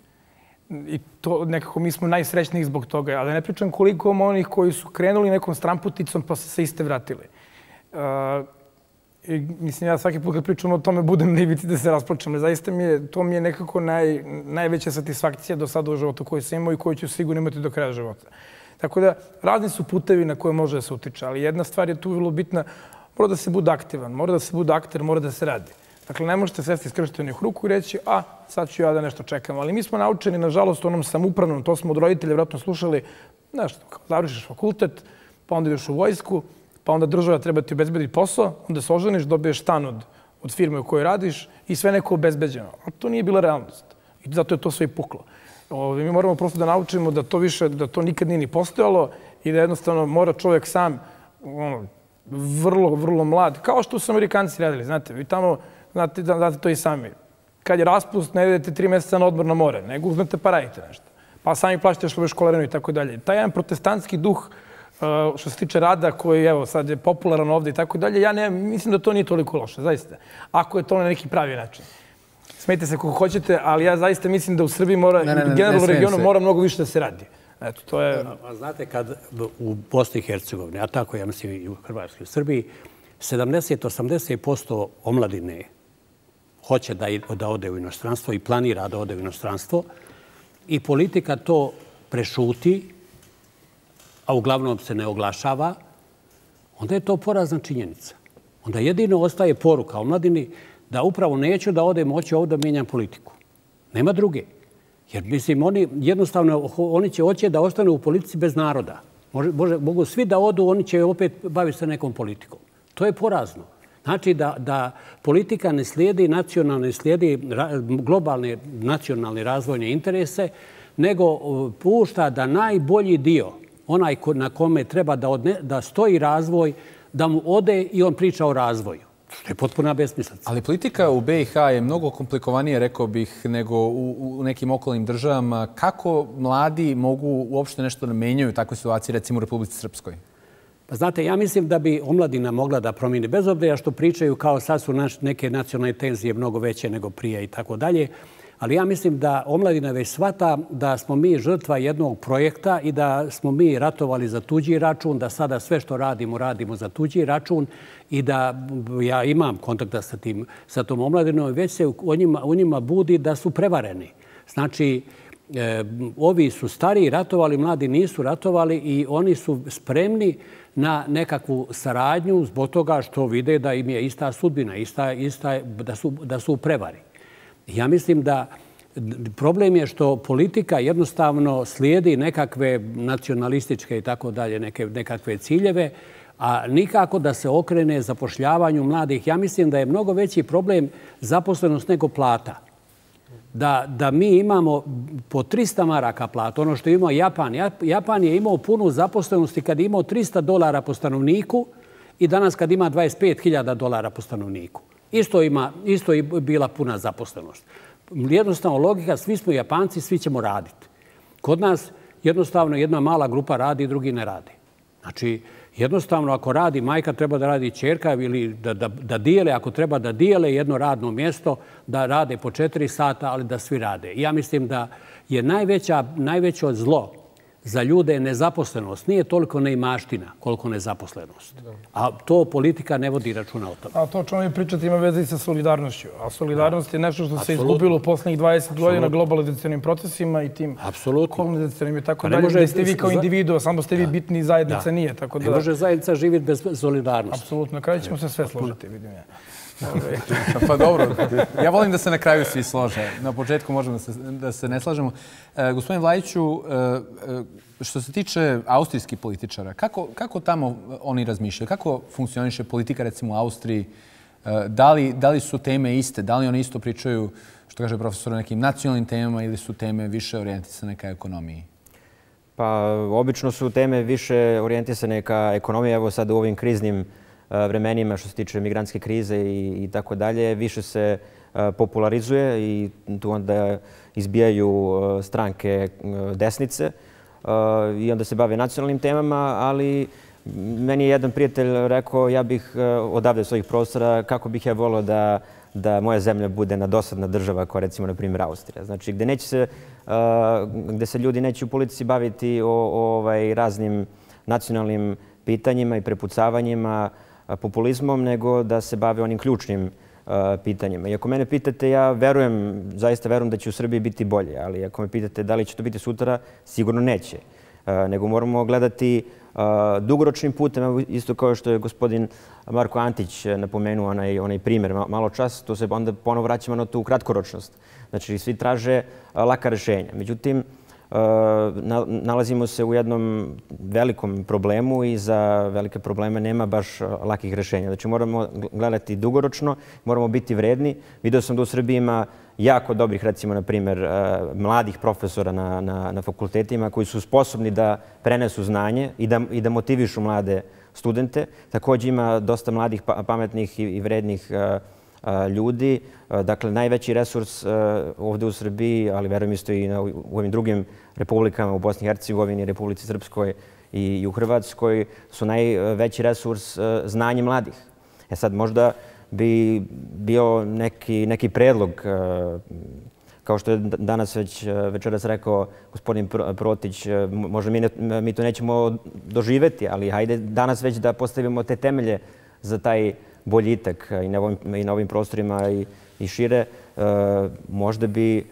I to nekako mi smo najsrećniji zbog toga. Ali ne pričam koliko onih koji su krenuli nekom stramputicom pa se iste vratili. Mislim, ja svaki put kad pričam o tome budem na ivici da se rasplačem. Zaista to mi je nekako najveća satisfakcija do sada u životu koju sam imao i koju ću sigurno imati do kraja života. Tako da, razni su putevi na koje može da se utiče, ali jedna stvar je tu vrlo bitna. Mora da se bude aktivan, mora da se bude akter, mora da se radi. Dakle, ne možete svesti skrštenih ruku i reći, a, sad ću ja da nešto čekam. Ali mi smo naučeni, nažalost, u onom samupravnom, to smo od roditelja vjerojatno slušali, nešto, završiš fakultet, pa onda ideš u vojsku, pa onda država treba ti obezbediti posao, onda se oženiš, dobiješ stan od firme u kojoj radiš i sve neko obezbeđeno. A to nije bila realnost. I zato je to sve i puklo. Mi moramo prosto da naučimo da to više, da to nikad nije ni postojalo i da jednostavno mora čovjek sam, vrlo, vrlo mlad, kao što su Amerikanci radili, znate, vi tamo, znate to i sami. Kad je raspust, ne idete tri mjeseca na odmor na more, nego uzmete pa radite nešto. Pa sami plaćate škole školarinu i tako dalje. Taj jedan protestantski duh što se tiče rada koji evo sad je popularan ovdje i tako dalje, ja ne, mislim da to nije toliko loše, zaista. Ako je to na neki pravi način. Smijete se kako hoćete, ali ja zaista mislim da u Srbiji mora, generalno u regionu mora mnogo više da se radi. Eto, to je... A znate, kad u Bosni i Hercegovini, a tako ja mislim i u Hrvatskoj i u Srbiji, sedamdeset do osamdeset posto omladine hoće da, da ode u inostranstvo i planira da ode u inostranstvo i politika to prešuti, a uglavnom se ne oglašava, onda je to porazna činjenica. Onda jedino ostaje poruka omladini da upravo neću da odem, hoću ovdje da mijenjam politiku. Nema druge. Jer, mislim, oni jednostavno, oni će hoće da ostanu u politici bez naroda. Može, može, mogu svi da odu, oni će opet baviti se nekom politikom. To je porazno. Znači da, da politika ne slijedi nacionalne, slijedi globalne nacionalne razvojne interese, nego pušta da najbolji dio, onaj na kome treba da, odne, da stoji razvoj, da mu ode i on priča o razvoju. To je potpuna besmislica. Ali politika u be i ha je mnogo komplikovanije, rekao bih, nego u, u nekim okolnim državama. Kako mladi mogu uopšte nešto da menjaju u takvoj situaciji, recimo u Republici Srpskoj? Pa znate, ja mislim da bi omladina mogla da promijeni, bez obzira što pričaju kao sad su naš, neke nacionalne tenzije mnogo veće nego prije i tako dalje. Ali ja mislim da omladina već shvata da smo mi žrtva jednog projekta i da smo mi ratovali za tuđi račun, da sada sve što radimo, radimo za tuđi račun i da ja imam kontakta sa, tim, sa tom omladinom i već se u njima, u njima budi da su prevareni. Znači, e, ovi su stariji ratovali, mladi nisu ratovali i oni su spremni na nekakvu saradnju zbog toga što vide da im je ista sudbina, ista, ista, da, su, da su u prevari. Ja mislim da problem je što politika jednostavno slijedi nekakve nacionalističke i tako dalje, neke, nekakve ciljeve, a nikako da se okrene zapošljavanju mladih. Ja mislim da je mnogo veći problem zaposlenost nego plata. Da, da mi imamo po trista maraka platu, ono što je imao Japan. Japan je imao punu zaposlenosti kad je imao trista dolara po stanovniku i danas kad ima dvadeset pet hiljada dolara po stanovniku. Isto, ima, isto je bila puna zaposlenost. Jednostavno logika, svi smo Japanci, svi ćemo raditi. Kod nas jednostavno jedna mala grupa radi, drugi ne radi. Znači, jednostavno ako radi majka, treba da radi ćerka ili da, da, da dijele, ako treba da dijele jedno radno mjesto, da rade po četiri sata, ali da svi rade. Ja mislim da je najveća, najveće zlo za ljude je nezaposlenost. Nije toliko neimaština koliko nezaposlenost. A to politika ne vodi računa o tome. A to čemu vi pričate ima veze i sa solidarnošću. A solidarnost je nešto što se izgubilo u posljednjih dvadeset godina globalizacionim procesima i tim kolonizacionim i tako dalje. Gdje ste vi kao individuo, samo ste vi bitni, zajednica nije. Tako da... Ne može zajednica živjeti bez solidarnosti. Apsolutno. Na kraju ćemo se sve složiti, vidim ja. Pa dobro, ja volim da se na kraju svi slože. Na početku možemo da se, da se ne slažemo. E, gospodin Vlajiću, e, što se tiče austrijskih političara, kako, kako tamo oni razmišljaju? Kako funkcioniše politika recimo u Austriji? E, da, li, da li su teme iste? Da li oni isto pričaju, što kaže profesor, o nekim nacionalnim temama ili su teme više orijentisane ka ekonomiji? Pa, obično su teme više orijentisane ka ekonomiji. Evo sad u ovim kriznim vremenima što se tiče migrantske krize i, i tako dalje, više se uh, popularizuje i tu onda izbijaju uh, stranke uh, desnice uh, i onda se bave nacionalnim temama, ali meni je jedan prijatelj rekao ja bih uh, odavde svojih prostora kako bih ja volio da, da moja zemlja bude na dosadna država kao recimo na primjer Austrija. Znači gdje, neće se, uh, gdje se ljudi neće u politici baviti o, o ovaj, raznim nacionalnim pitanjima i prepucavanjima, populizmom, nego da se bave onim ključnim uh, pitanjima. I ako mene pitate, ja verujem, zaista verujem da će u Srbiji biti bolje, ali ako me pitate da li će to biti sutra, sigurno neće. Uh, nego moramo gledati uh, dugoročnim putem, isto kao što je gospodin Marko Antić napomenuo onaj, onaj primjer malo čas, to se onda ponovo vraćamo na tu kratkoročnost. Znači, svi traže uh, laka rješenja. Međutim, nalazimo se u jednom velikom problemu i za velike probleme nema baš lakih rješenja. Znači moramo gledati dugoročno, moramo biti vredni. Vidio sam da u Srbiji ima jako dobrih, recimo, na primjer, mladih profesora na, na, na fakultetima koji su sposobni da prenesu znanje i da, i da motivišu mlade studente. Također ima dosta mladih, pametnih i, i vrednih ljudi. Dakle, najveći resurs ovdje u Srbiji, ali verujem isto i u ovim drugim republikama, u Bosni i Hercegovini, Republici Srpskoj i u Hrvatskoj, su najveći resurs znanje mladih. E sad, možda bi bio neki, neki predlog kao što je danas već večeras rekao gospodin Protić, možda mi, ne, mi to nećemo doživeti, ali hajde danas već da postavimo te temelje za taj boljitak i na ovim, i na ovim prostorima i, i šire. E, možda bi, e,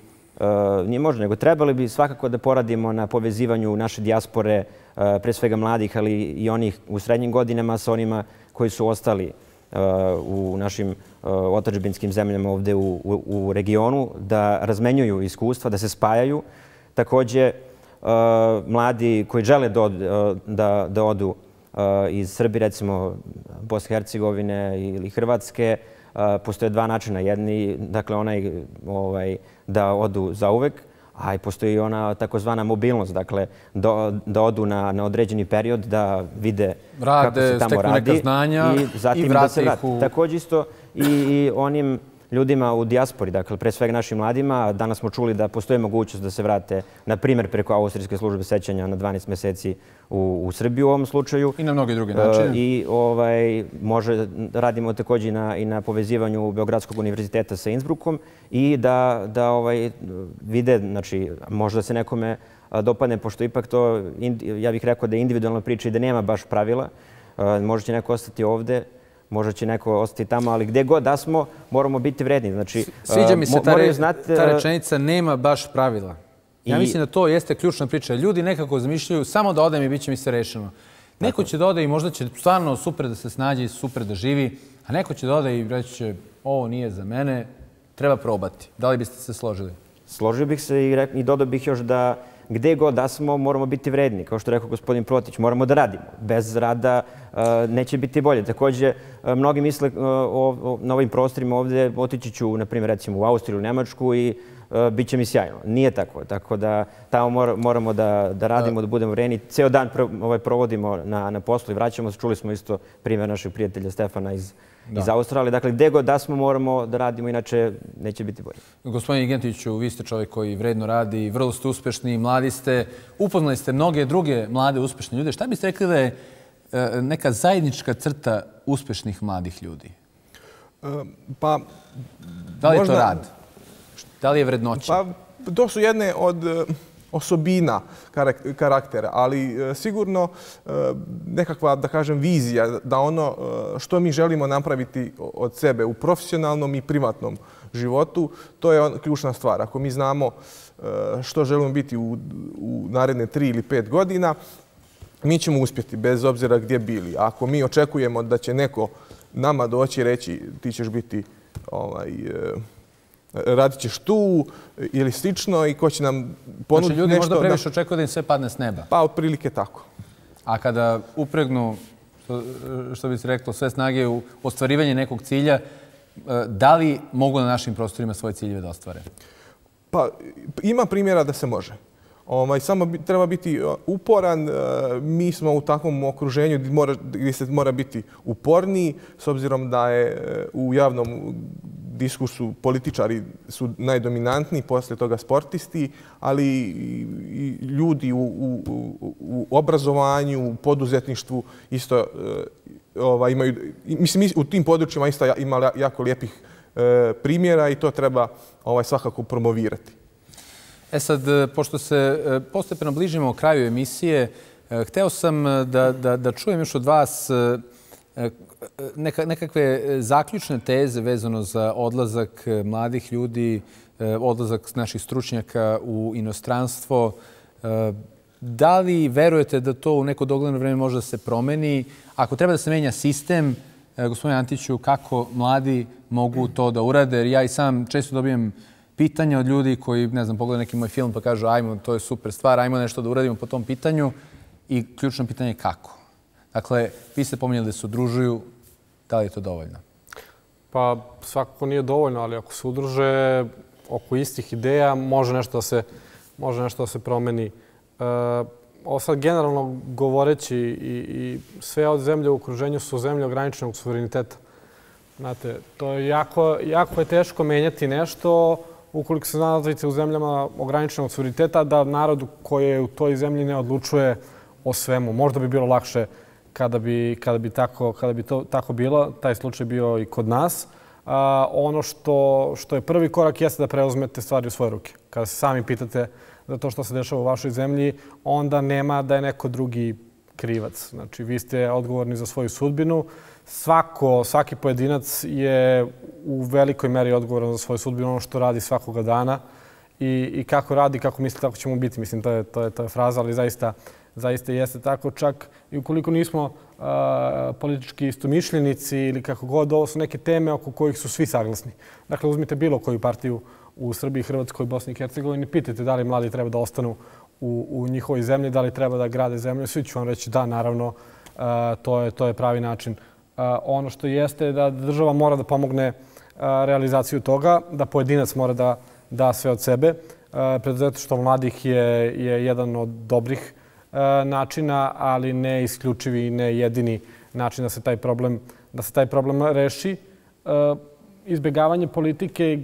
nije možda, nego trebali bi svakako da poradimo na povezivanju naše dijaspore, e, pre svega mladih, ali i onih u srednjim godinama sa onima koji su ostali u našim otadžbinskim zemljama ovde u, u, u regionu, da razmenjuju iskustva, da se spajaju. Takođe, mladi koji žele da, da, da odu iz Srbije, recimo Bosne i Hercegovine ili Hrvatske, postoje dva načina. Jedni, dakle, onaj ovaj, da odu zauvek, a i postoji ona takozvana mobilnost, dakle, do, da odu na, na određeni period, da vide rade, kako se tamo radi neka znanja i zatim i da se vrati. U... Također isto i, i onim ljudima u dijaspori, dakle, pre svega našim mladima. Danas smo čuli da postoji mogućnost da se vrate, na primjer, preko Austrijske službe sećanja na dvanaest mjeseci u, u Srbiju u ovom slučaju. I na mnoge druge načine. I ovaj, može, radimo također i na, i na povezivanju Beogradskog univerziteta sa Innsbruckom i da, da ovaj, vide, znači, možda se nekome dopadne, pošto ipak to, ja bih rekao da je individualna priča i da nema baš pravila. Možda će neko ostati ovde, možda će neko ostati tamo, ali gdje god da smo, moramo biti vredni. Znači, sviđa mi se ta, re, znati, ta rečenica nema baš pravila. Ja i... mislim da to jeste ključna priča. Ljudi nekako zamišljaju samo da odem i bit će mi se rešeno. Neko će da ode i možda će stvarno super da se snađe i super da živi, a neko će da ode i reći će ovo nije za mene, treba probati. Da li biste se složili? Složio bih se i, i dodao bih još da gdje god da smo, moramo biti vredni. Kao što rekao gospodin Protić, moramo da radimo. Bez rada uh, neće biti bolje. Također, uh, mnogi misle uh, o, o, na ovim prostorima ovdje, otići ću, na primjer, recimo u Austriju, u Nemačku i uh, bit će mi sjajno. Nije tako. Tako da tamo mor, moramo da, da radimo, da budemo vredni. Ceo dan pro, ovaj, provodimo na, na poslu i vraćamo se. Čuli smo isto primjer našeg prijatelja Stefana iz Da. iz Australije. Dakle, gdje god da smo, moramo da radimo, inače neće biti bolje. Gospodin Igentiću, vi ste čovjek koji vredno radi, vrlo ste uspešni, mladi ste, upoznali ste mnoge druge mlade uspešne ljude. Šta biste rekli da je neka zajednička crta uspešnih mladih ljudi? Pa, da li je možda, to rad? Da li je vrednoća? Pa, to su jedne od osobina karaktera, ali sigurno nekakva, da kažem, vizija da ono što mi želimo napraviti od sebe u profesionalnom i privatnom životu, to je ključna stvar. Ako mi znamo što želimo biti u, u naredne tri ili pet godina, mi ćemo uspjeti bez obzira gdje bili. Ako mi očekujemo da će neko nama doći i reći ti ćeš biti ovaj, radit ćeš tu ili slično i ko će nam ponuditi znači, ljudi nešto... možda previše očekuju da im sve padne s neba. Pa, otprilike tako. A kada upregnu, što, što bi se reklo, sve snage u ostvarivanje nekog cilja, da li mogu na našim prostorima svoje ciljeve da ostvare? Pa, ima primjera da se može. Ovaj, samo bi, treba biti uporan. Mi smo u takvom okruženju gdje, mora, gdje se mora biti uporniji, s obzirom da je u javnom diskursu političari su najdominantniji, poslije toga sportisti, ali i ljudi u, u, u obrazovanju, u poduzetništvu isto ovaj, imaju, mislim, u tim područjima isto ima jako lijepih e, primjera i to treba ovaj, svakako promovirati. E sad, pošto se postepeno bližimo kraju emisije, hteo sam da, da, da čujem još od vas neka, nekakve zaključne teze vezano za odlazak mladih ljudi, odlazak naših stručnjaka u inostranstvo. Da li verujete da to u neko dogledno vreme može da se promeni? Ako treba da se menja sistem, gospodine Antiću, kako mladi mogu to da urade? Jer ja i sam često dobijem pitanja od ljudi koji, ne znam, pogledaju neki moj film pa kažu ajmo, to je super stvar, ajmo nešto da uradimo po tom pitanju. I ključno pitanje je kako. Dakle, vi ste pominjali da se udružuju, da li je to dovoljno? Pa svakako nije dovoljno, ali ako se udruže oko istih ideja, može nešto da se, može nešto da se promeni. E, ovo sad generalno govoreći i, i sve od zemlje u okruženju su zemlje ograničenog suvereniteta. Znate, to je jako, jako je teško menjati nešto ukoliko se nalazite u zemljama ograničenog suvereniteta, da narod koji je u toj zemlji ne odlučuje o svemu. Možda bi bilo lakše kada bi, kada bi, tako, kada bi to tako bilo, taj slučaj bio i kod nas, ono što, što je prvi korak jeste da preuzmete stvari u svoje ruke. Kada se sami pitate za to što se dešava u vašoj zemlji, onda nema da je neko drugi krivac. Znači, vi ste odgovorni za svoju sudbinu. Svako, svaki pojedinac je u velikoj meri odgovoran za svoju sudbinu, ono što radi svakoga dana i, i kako radi, kako misli, tako ćemo biti. Mislim, to je, to je, to je fraza, ali zaista, zaista jeste tako. Čak i ukoliko nismo a, politički istomišljenici ili kako god, ovo su neke teme oko kojih su svi saglasni. Dakle, uzmite bilo koju partiju u Srbiji, Hrvatskoj, Bosni i Hercegovini, pitajte da li mladi treba da ostanu u, u njihovoj zemlji, da li treba da grade zemlju. Svi ću vam reći da, naravno, a, to, je, to je pravi način. A, ono što jeste da država mora da pomogne a, realizaciju toga, da pojedinac mora da da sve od sebe. Preduzetništvo mladih je, je jedan od dobrih a, načina, ali ne isključivi i ne jedini način da se taj problem, da se taj problem reši. A, izbjegavanje politike,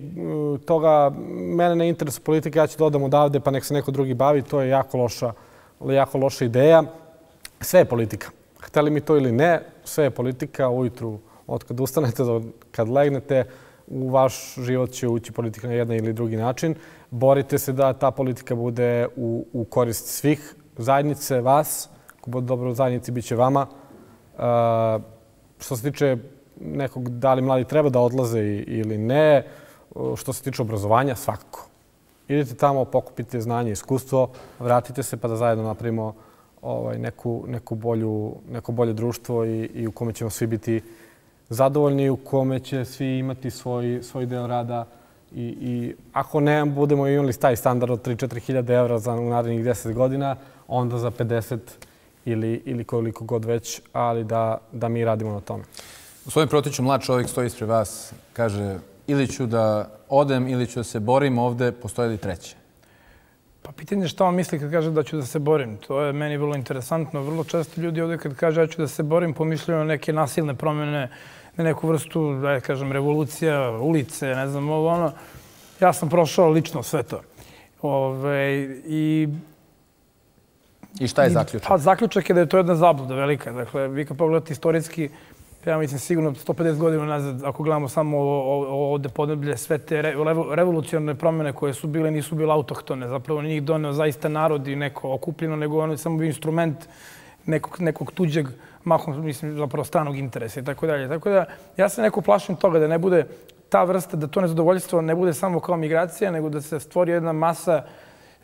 toga mene ne interesuje politika, ja ću da odam odavde pa nek se neko drugi bavi, to je jako loša, jako loša ideja. Sve je politika. Hteli mi to ili ne, sve je politika. Ujutru od kad ustanete do kad legnete, u vaš život će ući politika na jedan ili drugi način. Borite se da ta politika bude u, u korist svih zajednice, vas. Ako bude dobro u zajednici, bit će vama. Uh, što se tiče nekog da li mladi treba da odlaze ili ne, što se tiče obrazovanja, svakako. Idite tamo, pokupite znanje i iskustvo, vratite se pa da zajedno napravimo ovaj, neku, neku bolju, neko bolje društvo i, i u kome ćemo svi biti zadovoljni, u kome će svi imati svoj, svoj deo rada i, i ako ne budemo imali taj standard od tri do četiri hiljade evra za narednih deset godina, onda za pedeset ili, ili koliko god već, ali da, da mi radimo na tome. Gospodin Protiću, mlad čovjek stoji ispred vas, kaže ili ću da odem ili ću da se borim ovde, postoje li treće? Pa pitanje je šta on misli kad kaže da ću da se borim. To je meni vrlo interesantno. Vrlo često ljudi ovdje kad kaže da ću da se borim pomišljaju na neke nasilne promjene, na neku vrstu, da je kažem, revolucija, ulice, ne znam ovo ono. Ja sam prošao lično sve to. Ove, i, I šta je zaključak? Pa zaključak je da je to jedna zabluda velika. Dakle, vi kad pogledate istorijski, ja mislim sigurno sto pedeset godina nazad, ako gledamo samo ovdje podneblje, sve te revolucionarne promjene koje su bile, nisu bile autohtone. Zapravo njih doneo zaista narod i neko okupljeno, nego ono je samo bio instrument nekog, nekog tuđeg, mahom, mislim, zapravo stranog interesa i tako dalje. Tako da ja se neko plašim toga da ne bude ta vrsta, da to nezadovoljstvo ne bude samo kao migracija, nego da se stvori jedna masa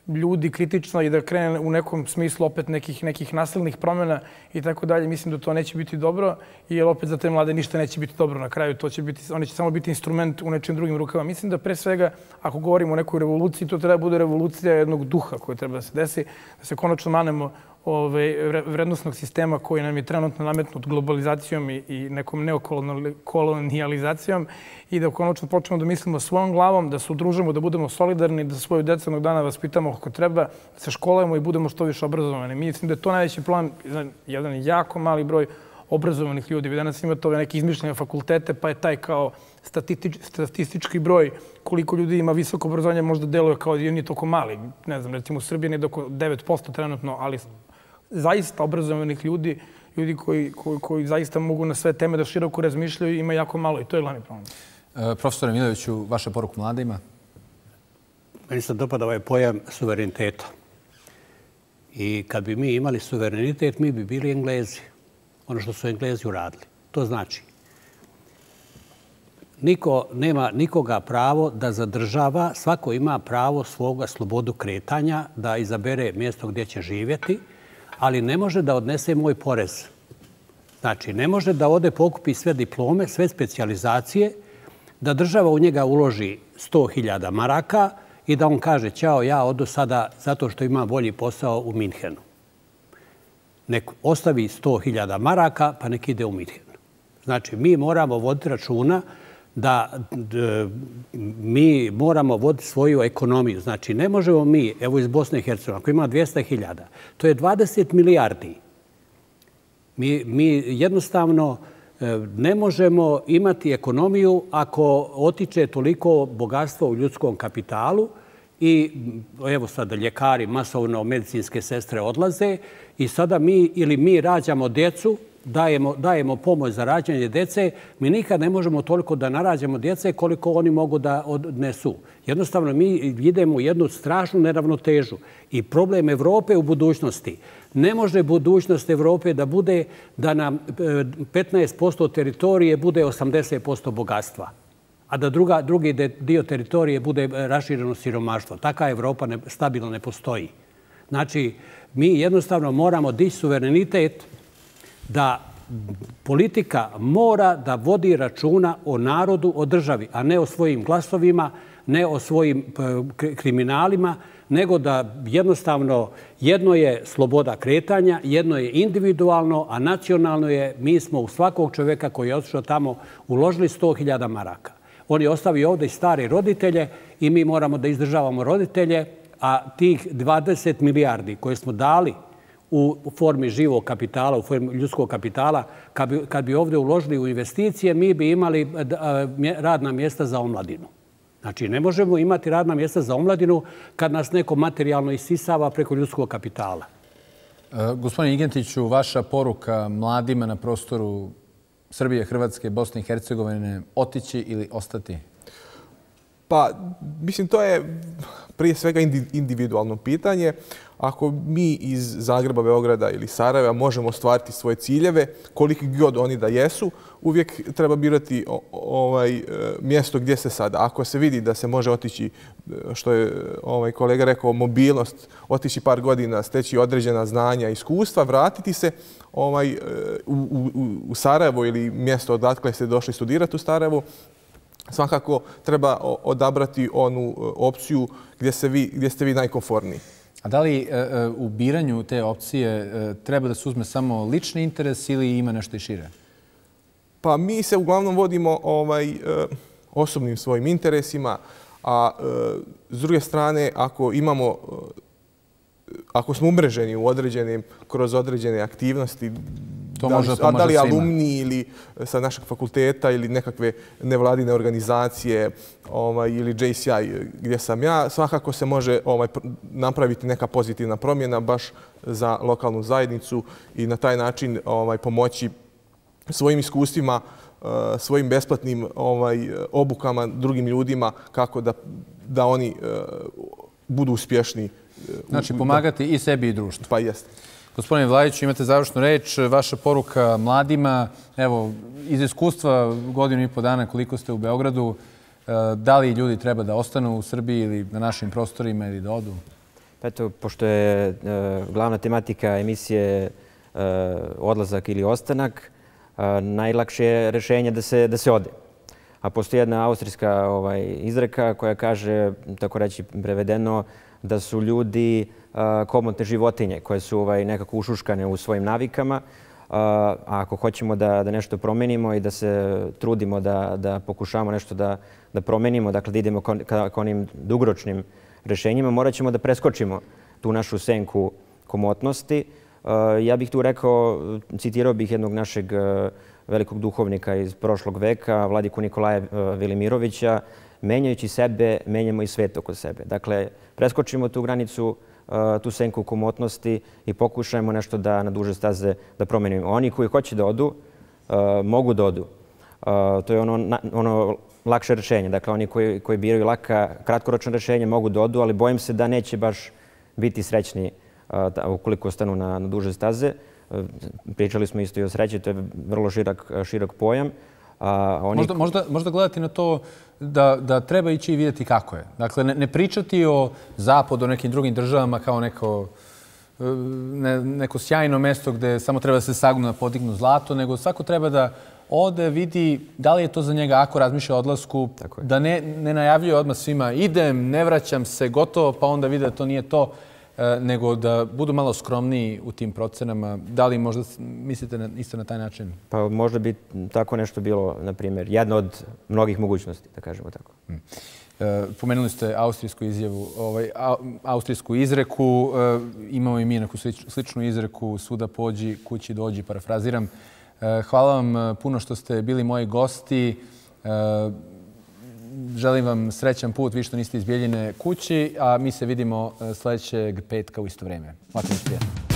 ljudi kritično i da krene u nekom smislu opet nekih, nekih nasilnih promjena i tako dalje. Mislim da to neće biti dobro, jer opet za te mlade ništa neće biti dobro na kraju. To će biti, oni će samo biti instrument u nečim drugim rukama. Mislim da pre svega, ako govorimo o nekoj revoluciji, to treba bude revolucija jednog duha koja treba da se desi, da se konačno manemo ove, vrednostnog sistema koji nam je trenutno nametnut globalizacijom i, i nekom neokolonijalizacijom i da konačno počnemo da mislimo svojom glavom, da se udružimo, da budemo solidarni, da svoju decu jednog dana vaspitamo kako treba, da se školujemo i budemo što više obrazovani. Mislim da je to najveći plan, jedan jako mali broj obrazovanih ljudi. Vi danas imate ove neke izmišljene fakultete, pa je taj kao statistič, statistički broj koliko ljudi ima visoko obrazovanje, možda deluje kao da nije toliko mali. Ne znam, recimo u Srbiji nije oko devet posto trenutno, ali zaista obrazovanih ljudi, ljudi koji, koji, koji zaista mogu na sve teme da široko razmišljaju, ima jako malo i to je glavni problem. E, profesore Miloviću, vaša poruka mladima? Meni se dopada ovaj pojam suvereniteta. I kad bi mi imali suverenitet, mi bi bili Englezi. Ono što su Englezi uradili. To znači, niko nema nikoga pravo da zadržava, svako ima pravo svoga slobodu kretanja, da izabere mjesto gdje će živjeti, ali ne može da odnese moj porez. Znači, ne može da ode pokupi sve diplome, sve specijalizacije, da država u njega uloži sto hiljada maraka i da on kaže, ćao, ja odu sada zato što ima bolji posao u Minhenu. Nek ostavi sto hiljada maraka, pa nek ide u Minhen. Znači, mi moramo voditi računa da d, mi moramo voditi svoju ekonomiju. Znači, ne možemo mi, evo iz Bosne i Hercegovine, ako ima dvjesto hiljada, to je dvadeset milijardi. Mi, mi jednostavno ne možemo imati ekonomiju ako otiče toliko bogatstva u ljudskom kapitalu i evo sada ljekari, masovno medicinske sestre odlaze i sada mi ili mi rađamo djecu, dajemo, dajemo pomoć za rađanje djece, mi nikad ne možemo toliko da narađamo djece koliko oni mogu da odnesu. Jednostavno mi idemo u jednu strašnu neravnotežu i problem Evrope u budućnosti. Ne može budućnost Evrope da bude da nam petnaest posto teritorije bude osamdeset posto bogatstva, a da druga, drugi dio teritorije bude rašireno siromaštvo. Taka Evropa ne, stabilno ne postoji. Znači, mi jednostavno moramo dići suverenitet da politika mora da vodi računa o narodu, o državi, a ne o svojim glasovima, ne o svojim kriminalima, nego da jednostavno jedno je sloboda kretanja, jedno je individualno, a nacionalno je, mi smo u svakog čovjeka koji je otišao tamo uložili sto hiljada maraka. On je ostavio ovdje i stare roditelje i mi moramo da izdržavamo roditelje, a tih dvadeset milijardi koje smo dali u formi živog kapitala, u formi ljudskog kapitala, kad bi, kad bi ovdje uložili u investicije, mi bi imali radna mjesta za omladinu. Znači, ne možemo imati radna mjesta za omladinu kad nas neko materijalno isisava preko ljudskog kapitala. E, gospodine Ingentiću, vaša poruka mladima na prostoru Srbije, Hrvatske, Bosne i Hercegovine, otići ili ostati? Pa, mislim, to je prije svega individualno pitanje. Ako mi iz Zagreba, Beograda ili Sarajeva možemo ostvariti svoje ciljeve, koliki god oni da jesu, uvijek treba birati ovaj, mjesto gdje se sada. Ako se vidi da se može otići, što je ovaj kolega rekao, mobilnost, otići par godina, steći određena znanja, iskustva, vratiti se ovaj, u, u, u Sarajevo ili mjesto odakle ste došli studirati u Sarajevu, svakako treba odabrati onu opciju gdje, se vi, gdje ste vi najkomforniji. A da li e, u biranju te opcije e, treba da se uzme samo lični interes ili ima nešto i šire? Pa mi se uglavnom vodimo ovaj, e, osobnim svojim interesima, a e, s druge strane, ako imamo, e, ako smo umreženi u određenim, kroz određene aktivnosti, to da li, može, to a da li može alumni ili sa našeg fakulteta ili nekakve nevladine organizacije ovaj, ili J C I gdje sam ja, svakako se može ovaj, napraviti neka pozitivna promjena baš za lokalnu zajednicu i na taj način ovaj, pomoći svojim iskustvima, svojim besplatnim ovaj, obukama drugim ljudima kako da, da oni budu uspješni. Znači pomagati i sebi i društvu. Pa jeste. Gospodine Vlajiću, imate završnu reč. Vaša poruka mladima, evo, iz iskustva godinu i po dana koliko ste u Beogradu, da li ljudi treba da ostanu u Srbiji ili na našim prostorima ili da odu? Eto, pošto je glavna tematika emisije odlazak ili ostanak, najlakše je rješenje da se, da se ode. A postoji jedna austrijska ovaj, izreka koja kaže, tako reći prevedeno, da su ljudi komotne životinje koje su ovaj, nekako ušuškane u svojim navikama. A ako hoćemo da, da nešto promenimo i da se trudimo da, da pokušamo nešto da, da promenimo, dakle da idemo ka, ka onim dugoročnim rješenjima, morat ćemo da preskočimo tu našu senku komotnosti. Ja bih tu rekao, citirao bih jednog našeg velikog duhovnika iz prošlog veka, vladiku Nikolaja Velimirovića, menjajući sebe, menjamo i svet oko sebe. Dakle, preskočimo tu granicu, tu senku komotnosti i pokušajmo nešto da na duže staze da promenimo. Oni koji hoće da odu, mogu da odu. To je ono, ono lakše rješenje. Dakle, oni koji, koji biraju laka, kratkoročno rješenje mogu da odu, ali bojim se da neće baš biti srećni ukoliko ostanu na, na duže staze. Pričali smo isto i o sreći, to je vrlo širok, širok pojam. A oni... možda, možda, možda gledati na to da, da treba ići i vidjeti kako je. Dakle, ne, ne pričati o zapadu, o nekim drugim državama kao neko, ne, neko sjajno mjesto gdje samo treba da se sagnu na podignu zlato, nego svako treba da ode, vidi da li je to za njega ako razmišlja o odlasku, da ne, ne najavljuje odmah svima idem, ne vraćam se, gotovo, pa onda vide da to nije to, nego da budu malo skromniji u tim procenama. Da li možda mislite na, isto na taj način? Pa možda bi tako nešto bilo, na primjer, jedna od mnogih mogućnosti, da kažemo tako. Hmm. E, pomenuli ste austrijsku izjavu, ovaj, a, austrijsku izreku. E, imamo i mi neku sličnu izreku, svuda pođi, kući dođi, parafraziram. E, hvala vam puno što ste bili moji gosti. E, želim vam srećan put, vi što niste iz Bijeljine kući, a mi se vidimo sljedećeg petka u isto vrijeme. Lako mi prijatno.